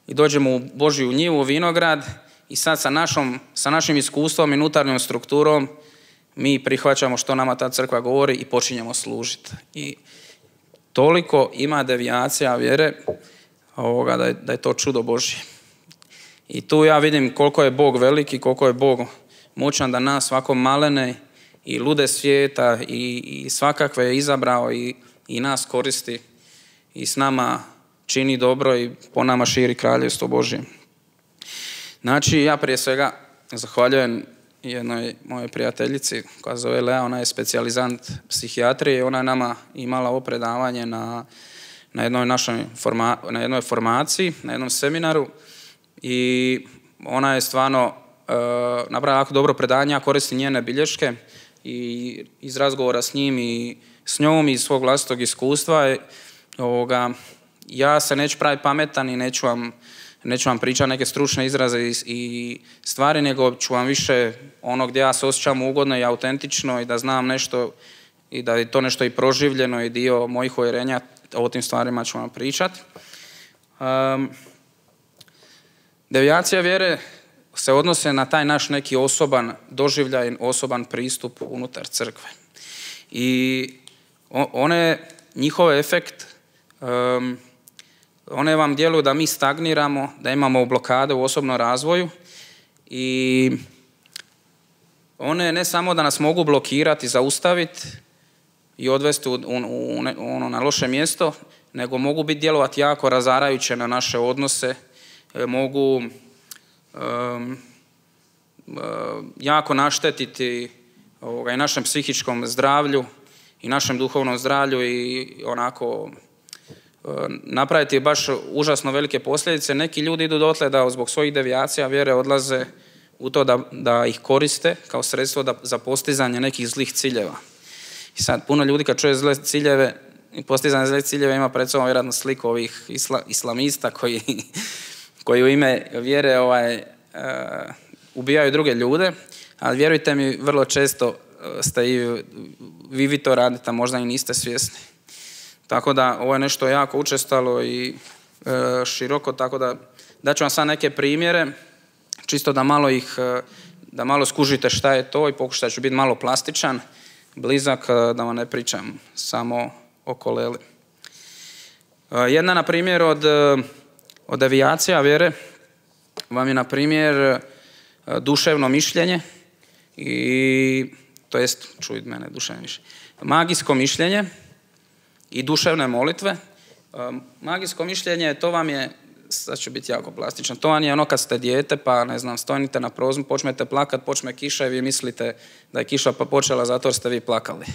i dođemo u Božju njivu, u vinograd i sad sa, našom, sa našim iskustvom i unutarnjom strukturom mi prihvaćamo što nama ta crkva govori i počinjemo služiti. I toliko ima devijacija vjere ovoga, da, je, da je to čudo Božje. I tu ja vidim koliko je Bog veliki, koliko je Bog moćan da nas svako malene i lude svijeta i, i svakakve je izabrao i, i nas koristi i s nama čini dobro i po nama širi kraljevstvo Božje. Znači, ja prije svega zahvaljujem jednoj mojoj prijateljici koja zove Lea, ona je specijalizant psihijatrije i ona je nama imala ovo predavanje na, na, jednoj našoj forma, na jednoj formaciji, na jednom seminaru i ona je stvarno uh, napravila jako dobro predavanje, ja koristim njene bilješke i iz razgovora s njim i s njom i iz svog vlastitog iskustva je, ovoga, ja se neću praviti pametan i neću vam Neću vam pričati neke stručne izraze i, i stvari, nego ću vam više ono gdje ja se osjećam ugodno i autentično i da znam nešto i da je to nešto i proživljeno i dio mojih uvjerenja, o tim stvarima ću vam pričati. Um, devijacija vjere se odnose na taj naš neki osoban doživljaj, osoban pristup unutar crkve. I one, njihov efekt um, one vam djeluju da mi stagniramo, da imamo blokade u osobnom razvoju i one ne samo da nas mogu blokirati, zaustaviti i odvesti u, u, u, ono, na loše mjesto, nego mogu biti djelovati jako razarajuće na naše odnose, mogu um, um, jako naštetiti ovoga, i našem psihičkom zdravlju i našem duhovnom zdravlju i onako napraviti baš užasno velike posljedice. Neki ljudi idu dotle da zbog svojih devijacija vjere odlaze u to da, da ih koriste kao sredstvo da, za postizanje nekih zlih ciljeva. I sad puno ljudi kad čuje zle ciljeve i postizanje zlih ciljeva ima pred sobom vjerojatno sliku ovih isla, islamista koji, koji u ime vjere ovaj, uh, ubijaju druge ljude, ali vjerujte mi, vrlo često ste i vi, vi to radite, a možda i niste svjesni. Tako da ovo je nešto jako učestalo i e, široko, tako da daću vam sad neke primjere, čisto da malo ih, da malo skužite šta je to i pokušat ću biti malo plastičan, blizak, da vam ne pričam samo o koleli. E, jedna, na primjer, od, od devijacija vjere vam je, na primjer, duševno mišljenje i, to jest, čujte mene, duševno mišljenje, magijsko mišljenje i duševne molitve. Magijsko mišljenje, to vam je, sad ću biti jako plastičan, to vam je ono kad ste dijete, pa ne znam, stojite na prozmu, počnete plakat, počne kiša i vi mislite da je kiša pa počela zato jer ste vi plakali.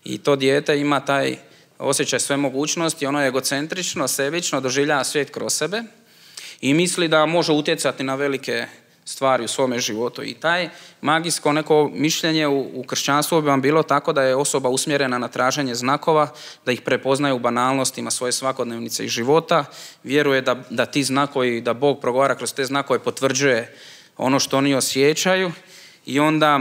I to dijete ima taj osjećaj sve mogućnosti, ono je egocentrično, sebično, doživljava svijet kroz sebe i misli da može utjecati na velike stvari u svome životu. I taj magijsko neko mišljenje u, u kršćanstvu bi vam bilo tako da je osoba usmjerena na traženje znakova, da ih prepoznaje u banalnostima svoje svakodnevnice i života, vjeruje da, da ti znakovi, da Bog progovara kroz te znakove, potvrđuje ono što oni osjećaju i onda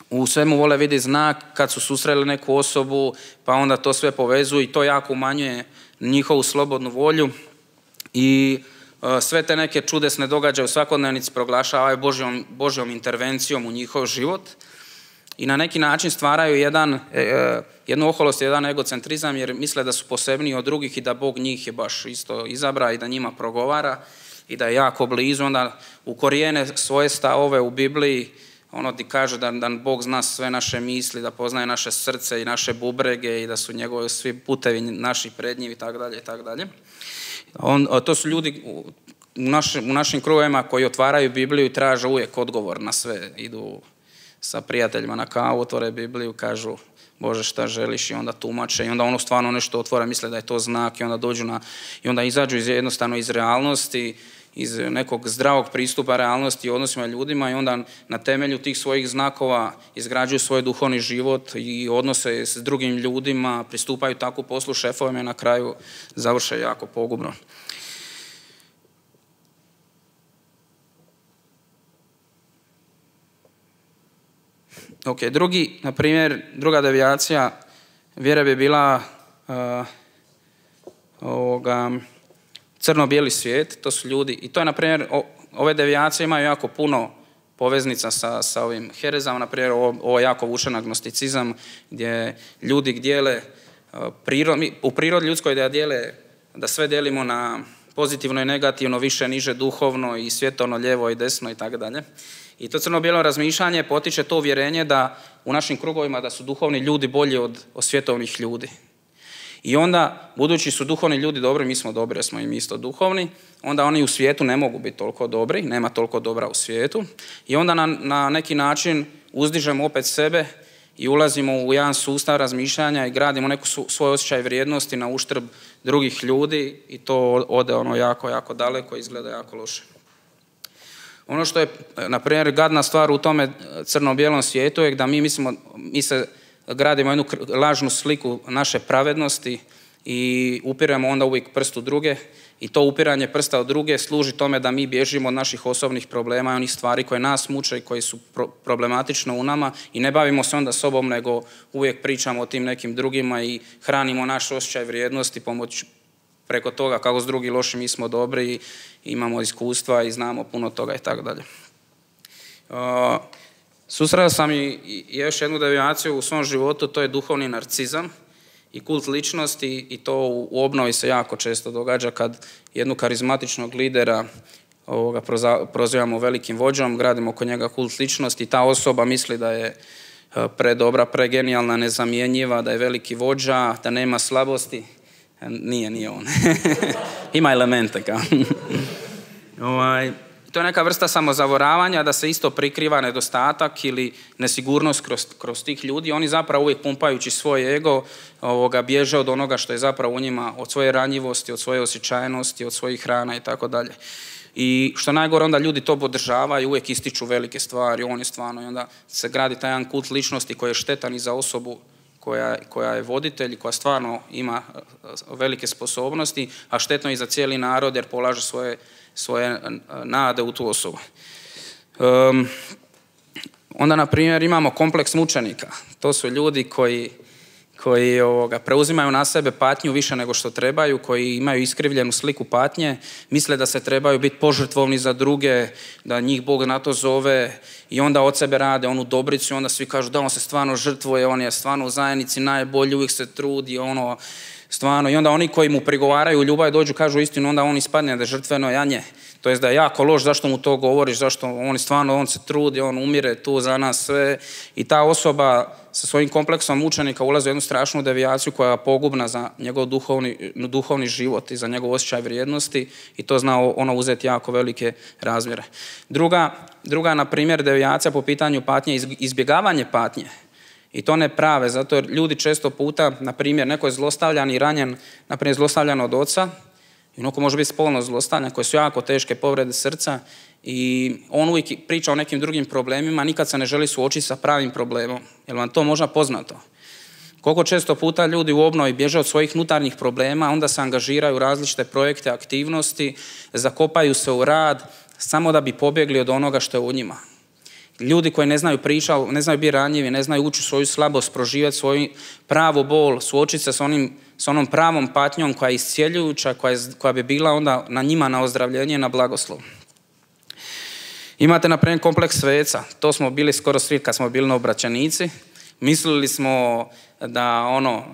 u svemu vole vidi znak kad su susreli neku osobu, pa onda to sve povezuju i to jako umanjuje njihovu slobodnu volju i sve te neke čudesne događaje u svakodnevnici proglašavaju Božjom, Božjom intervencijom u njihov život i na neki način stvaraju jedan, eh, jednu oholost, jedan egocentrizam jer misle da su posebniji od drugih i da Bog njih je baš isto izabra i da njima progovara i da je jako blizu. Onda ukorijene svoje stavove u Bibliji, ono ti kaže da, da Bog zna sve naše misli, da poznaje naše srce i naše bubrege i da su njegovi svi putevi naši pred njim i tako dalje i tako dalje. On, to su ljudi u, naš, u našim krugovima koji otvaraju Bibliju i traže uvijek odgovor na sve. Idu sa prijateljima na kavu, otvore Bibliju, kažu Bože šta želiš i onda tumače i onda ono stvarno nešto otvore, misle da je to znak i onda dođu na, i onda izađu iz, jednostavno iz realnosti, iz nekog zdravog pristupa realnosti i odnosima ljudima i onda na temelju tih svojih znakova izgrađuju svoj duhovni život i odnose s drugim ljudima, pristupaju tako poslu šefovima i na kraju završe jako pogubno. Ok, drugi, na primjer, druga devijacija vjere bi bila uh, ovoga, crno-bijeli svijet, to su ljudi, i to je, na primjer, o, ove devijacije imaju jako puno poveznica sa, sa ovim herezama, na primjer, ovo, ovo jako vučen agnosticizam, gdje ljudi dijele, uh, prirod, u prirodi ljudskoj da dijele, da sve dijelimo na pozitivno i negativno, više, niže, duhovno i svjetovno, lijevo i desno i tako dalje. I to crno-bijelo razmišljanje potiče to uvjerenje da u našim krugovima da su duhovni ljudi bolji od, od svjetovnih ljudi. I onda, budući su duhovni ljudi dobri, mi smo dobri jer smo im isto duhovni, onda oni u svijetu ne mogu biti toliko dobri, nema toliko dobra u svijetu. I onda na, na neki način uzdižemo opet sebe i ulazimo u jedan sustav razmišljanja i gradimo neku su, svoj osjećaj vrijednosti na uštrb drugih ljudi i to ode ono jako, jako daleko i izgleda jako loše. Ono što je, na primjer, gadna stvar u tome crno-bijelom svijetu je da mi mislimo, mi se gradimo jednu lažnu sliku naše pravednosti i upiremo onda uvijek prst u druge i to upiranje prsta u druge služi tome da mi bježimo od naših osobnih problema i onih stvari koje nas muče i koji su pro- problematične u nama i ne bavimo se onda sobom, nego uvijek pričamo o tim nekim drugima i hranimo naš osjećaj vrijednosti pomoć preko toga kako s drugi loši mi smo dobri i imamo iskustva i znamo puno toga i tako dalje. Susreo sam i, i još jednu devijaciju u svom životu, to je duhovni narcizam i kult ličnosti i to u, u obnovi se jako često događa kad jednu karizmatičnog lidera ovoga, proza, prozivamo velikim vođom, gradimo oko njega kult ličnosti i ta osoba misli da je predobra, pregenijalna, nezamjenjiva, da je veliki vođa, da nema slabosti. Nije, nije on. Ima elemente kao. ovaj, to je neka vrsta samozavoravanja da se isto prikriva nedostatak ili nesigurnost kroz, kroz tih ljudi. Oni zapravo uvijek pumpajući svoj ego ovoga, bježe od onoga što je zapravo u njima, od svoje ranjivosti, od svoje osjećajnosti, od svojih hrana i tako dalje. I što najgore, onda ljudi to podržavaju i uvijek ističu velike stvari, on je stvarno, i onda se gradi taj jedan kult ličnosti koji je štetan i za osobu Koja, koja je voditelj, koja stvarno ima velike sposobnosti, a štetno i za cijeli narod jer polaže svoje, svoje nade u tu osobu. Um, onda, na primjer, imamo kompleks mučenika. To su ljudi koji, koji ovoga, preuzimaju na sebe patnju više nego što trebaju, koji imaju iskrivljenu sliku patnje, misle da se trebaju biti požrtvovni za druge, da njih Bog na to zove i onda od sebe rade onu dobricu i onda svi kažu da on se stvarno žrtvuje, on je stvarno u zajednici najbolji, uvijek se trudi, ono, stvarno. I onda oni koji mu prigovaraju u ljubavi dođu, kažu istinu, onda on ispadne da je žrtveno janje. To jest da je jako loš, zašto mu to govoriš, zašto on stvarno, on se trudi, on umire tu za nas sve. I ta osoba sa svojim kompleksom mučenika ulazi u jednu strašnu devijaciju koja je pogubna za njegov duhovni, duhovni život i za njegov osjećaj vrijednosti i to zna ono uzeti jako velike razmjere. Druga, druga na primjer, devijacija po pitanju patnje, izbjegavanje patnje. I to ne prave, zato jer ljudi često puta, na primjer, neko je zlostavljan i ranjen, na primjer, zlostavljan od oca, i onako može biti spolno zlostavljan, koje su jako teške povrede srca i on uvijek priča o nekim drugim problemima, nikad se ne želi suočiti sa pravim problemom. Jel vam to možda poznato? Koliko često puta ljudi u obnovi bježe od svojih unutarnjih problema, onda se angažiraju u različite projekte, aktivnosti, zakopaju se u rad, samo da bi pobjegli od onoga što je u njima. Ljudi koji ne znaju pričati, ne znaju biti ranjivi, ne znaju ući u svoju slabost, proživjeti svoju pravu bol, suočiti se s, onim, s onom pravom patnjom koja je iscijeljujuća, koja, je, koja bi bila onda na njima na ozdravljenje, na blagoslov. Imate, na primjer, kompleks sveca. To smo bili skoro svi kad smo bili novobraćanici. Mislili smo da ono,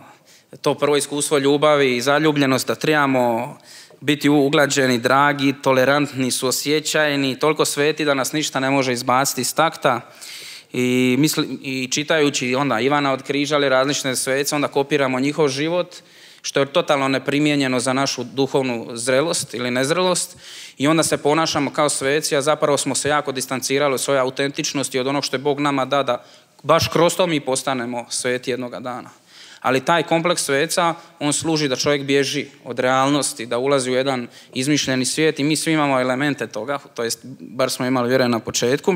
to prvo iskustvo ljubavi i zaljubljenost, da trebamo biti uglađeni, dragi, tolerantni, suosjećajni, toliko sveti da nas ništa ne može izbaciti iz takta. I, misli, i čitajući onda Ivana od Križa ili različite svece, onda kopiramo njihov život, što je totalno neprimjenjeno za našu duhovnu zrelost ili nezrelost. I onda se ponašamo kao sveci, a zapravo smo se jako distancirali od svoje autentičnosti, od onog što je Bog nama da, da baš kroz to mi postanemo sveti jednoga dana. Ali taj kompleks sveca, on služi da čovjek bježi od realnosti, da ulazi u jedan izmišljeni svijet i mi svi imamo elemente toga, to jest bar smo imali vjerujem na početku.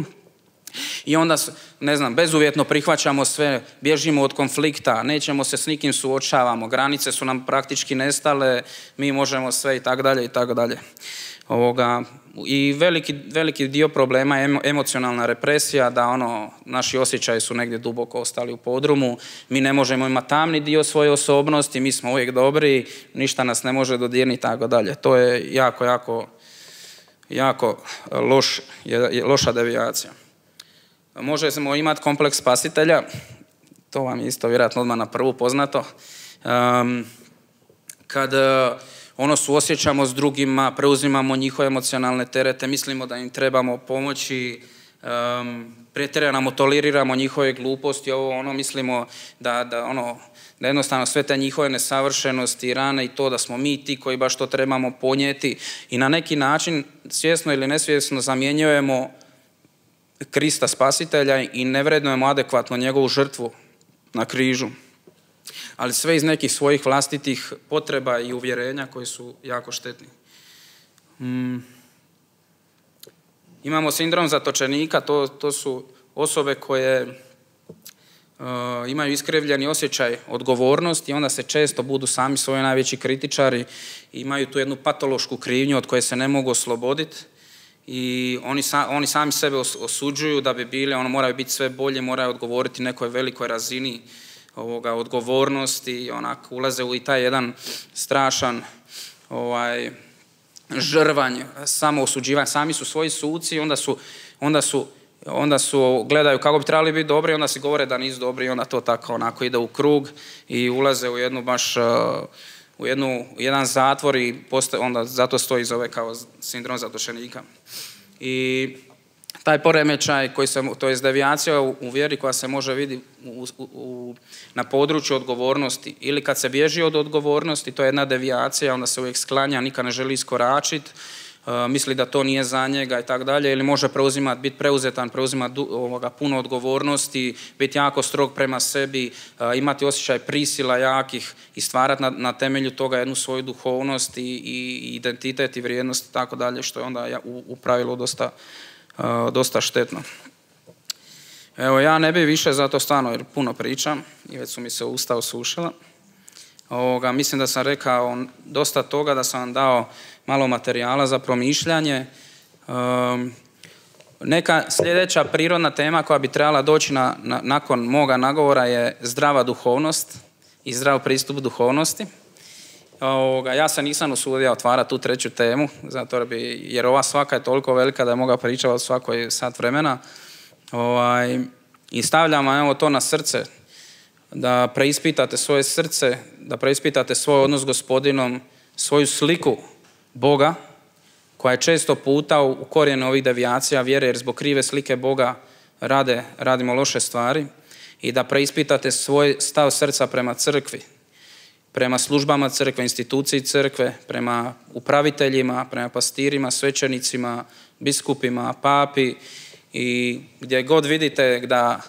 I onda, ne znam, bezuvjetno prihvaćamo sve, bježimo od konflikta, nećemo se s nikim suočavamo, granice su nam praktički nestale, mi možemo sve i tako dalje i tako dalje. Ovoga, i veliki, veliki dio problema je emocionalna represija, da ono, naši osjećaji su negdje duboko ostali u podrumu, mi ne možemo imati tamni dio svoje osobnosti, mi smo uvijek dobri, ništa nas ne može dodirniti i tako dalje. To je jako, jako, jako loš, loša devijacija. Možemo imati kompleks spasitelja, to vam je isto vjerojatno odmah na prvu poznato. Um, kad ono suosjećamo s drugima, preuzimamo njihove emocionalne terete, mislimo da im trebamo pomoći, um, pretjerano toleriramo njihove gluposti, ovo ono, mislimo da, da, ono, da jednostavno sve te njihove nesavršenosti i rane i to da smo mi ti koji baš to trebamo ponijeti i na neki način svjesno ili nesvjesno zamjenjujemo Krista Spasitelja i ne vrednujemo adekvatno njegovu žrtvu na križu. Ali sve iz nekih svojih vlastitih potreba i uvjerenja koji su jako štetni. Mm. Imamo sindrom zatočenika, to, to su osobe koje uh, imaju iskrivljeni osjećaj odgovornosti i onda se često budu sami svoji najveći kritičari i imaju tu jednu patološku krivnju od koje se ne mogu osloboditi. I oni, sa, oni sami sebe osuđuju da bi bili, ono moraju biti sve bolje, moraju odgovoriti nekoj velikoj razini ovoga, odgovornosti, onako ulaze u i taj jedan strašan ovaj, žrvanj, samo osuđivanje, sami su svoji suci i onda su, onda su, onda su gledaju kako bi trebali biti dobri, onda si govore da nisu dobri i onda to tako onako ide u krug i ulaze u jednu baš u jednu, jedan zatvor i postoje, onda zato stoji zove kao sindrom zatočenika. I taj poremećaj koji se, to je devijacija u, u vjeri koja se može vidjeti u, u, u, na području odgovornosti ili kad se bježi od odgovornosti, to je jedna devijacija, onda se uvijek sklanja, nikad ne želi iskoračiti, uh, misli da to nije za njega i tako dalje, ili može preuzimati, biti preuzetan, preuzimati ovoga, puno odgovornosti, biti jako strog prema sebi, uh, imati osjećaj prisila jakih i stvarati na, na temelju toga jednu svoju duhovnost i, i identitet i vrijednost i tako dalje, što je onda u, u pravilu dosta Uh, dosta štetno. Evo, ja ne bi više zato stvarno jer puno pričam i već su mi se usta osušila. Ovoga, mislim da sam rekao dosta toga, da sam vam dao malo materijala za promišljanje. Um, neka sljedeća prirodna tema koja bi trebala doći na, na, nakon moga nagovora je zdrava duhovnost i zdrav pristup duhovnosti. Ovoga, ja se nisam usudio otvarati tu treću temu, zato bi, jer ova svaka je toliko velika da je mogao pričati od svakoj sat vremena. Ovaj, I stavljam evo to na srce, da preispitate svoje srce, da preispitate svoj odnos s Gospodinom, svoju sliku Boga, koja je često puta u korijenu ovih devijacija vjere, jer zbog krive slike Boga rade, radimo loše stvari, i da preispitate svoj stav srca prema crkvi, prema službama crkve, instituciji crkve, prema upraviteljima, prema pastirima, svećenicima, biskupima, papi, i gdje god vidite da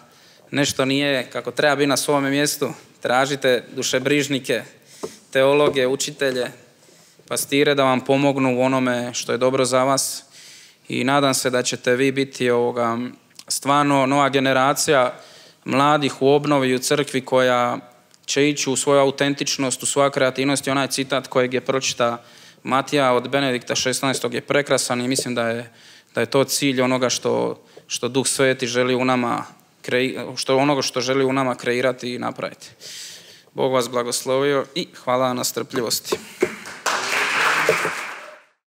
nešto nije kako treba biti na svome mjestu, tražite dušebrižnike, teologe, učitelje, pastire da vam pomognu u onome što je dobro za vas i nadam se da ćete vi biti ovoga, stvarno nova generacija mladih u obnovi i u crkvi koja će ići u svoju autentičnost, u svoju kreativnost i onaj citat kojeg je pročita Matija od Benedikta šesnaestog je prekrasan i mislim da je, da je to cilj onoga što, što Duh Sveti želi u nama, što onoga što želi u nama kreirati i napraviti. Bog vas blagoslovio i hvala na strpljivosti.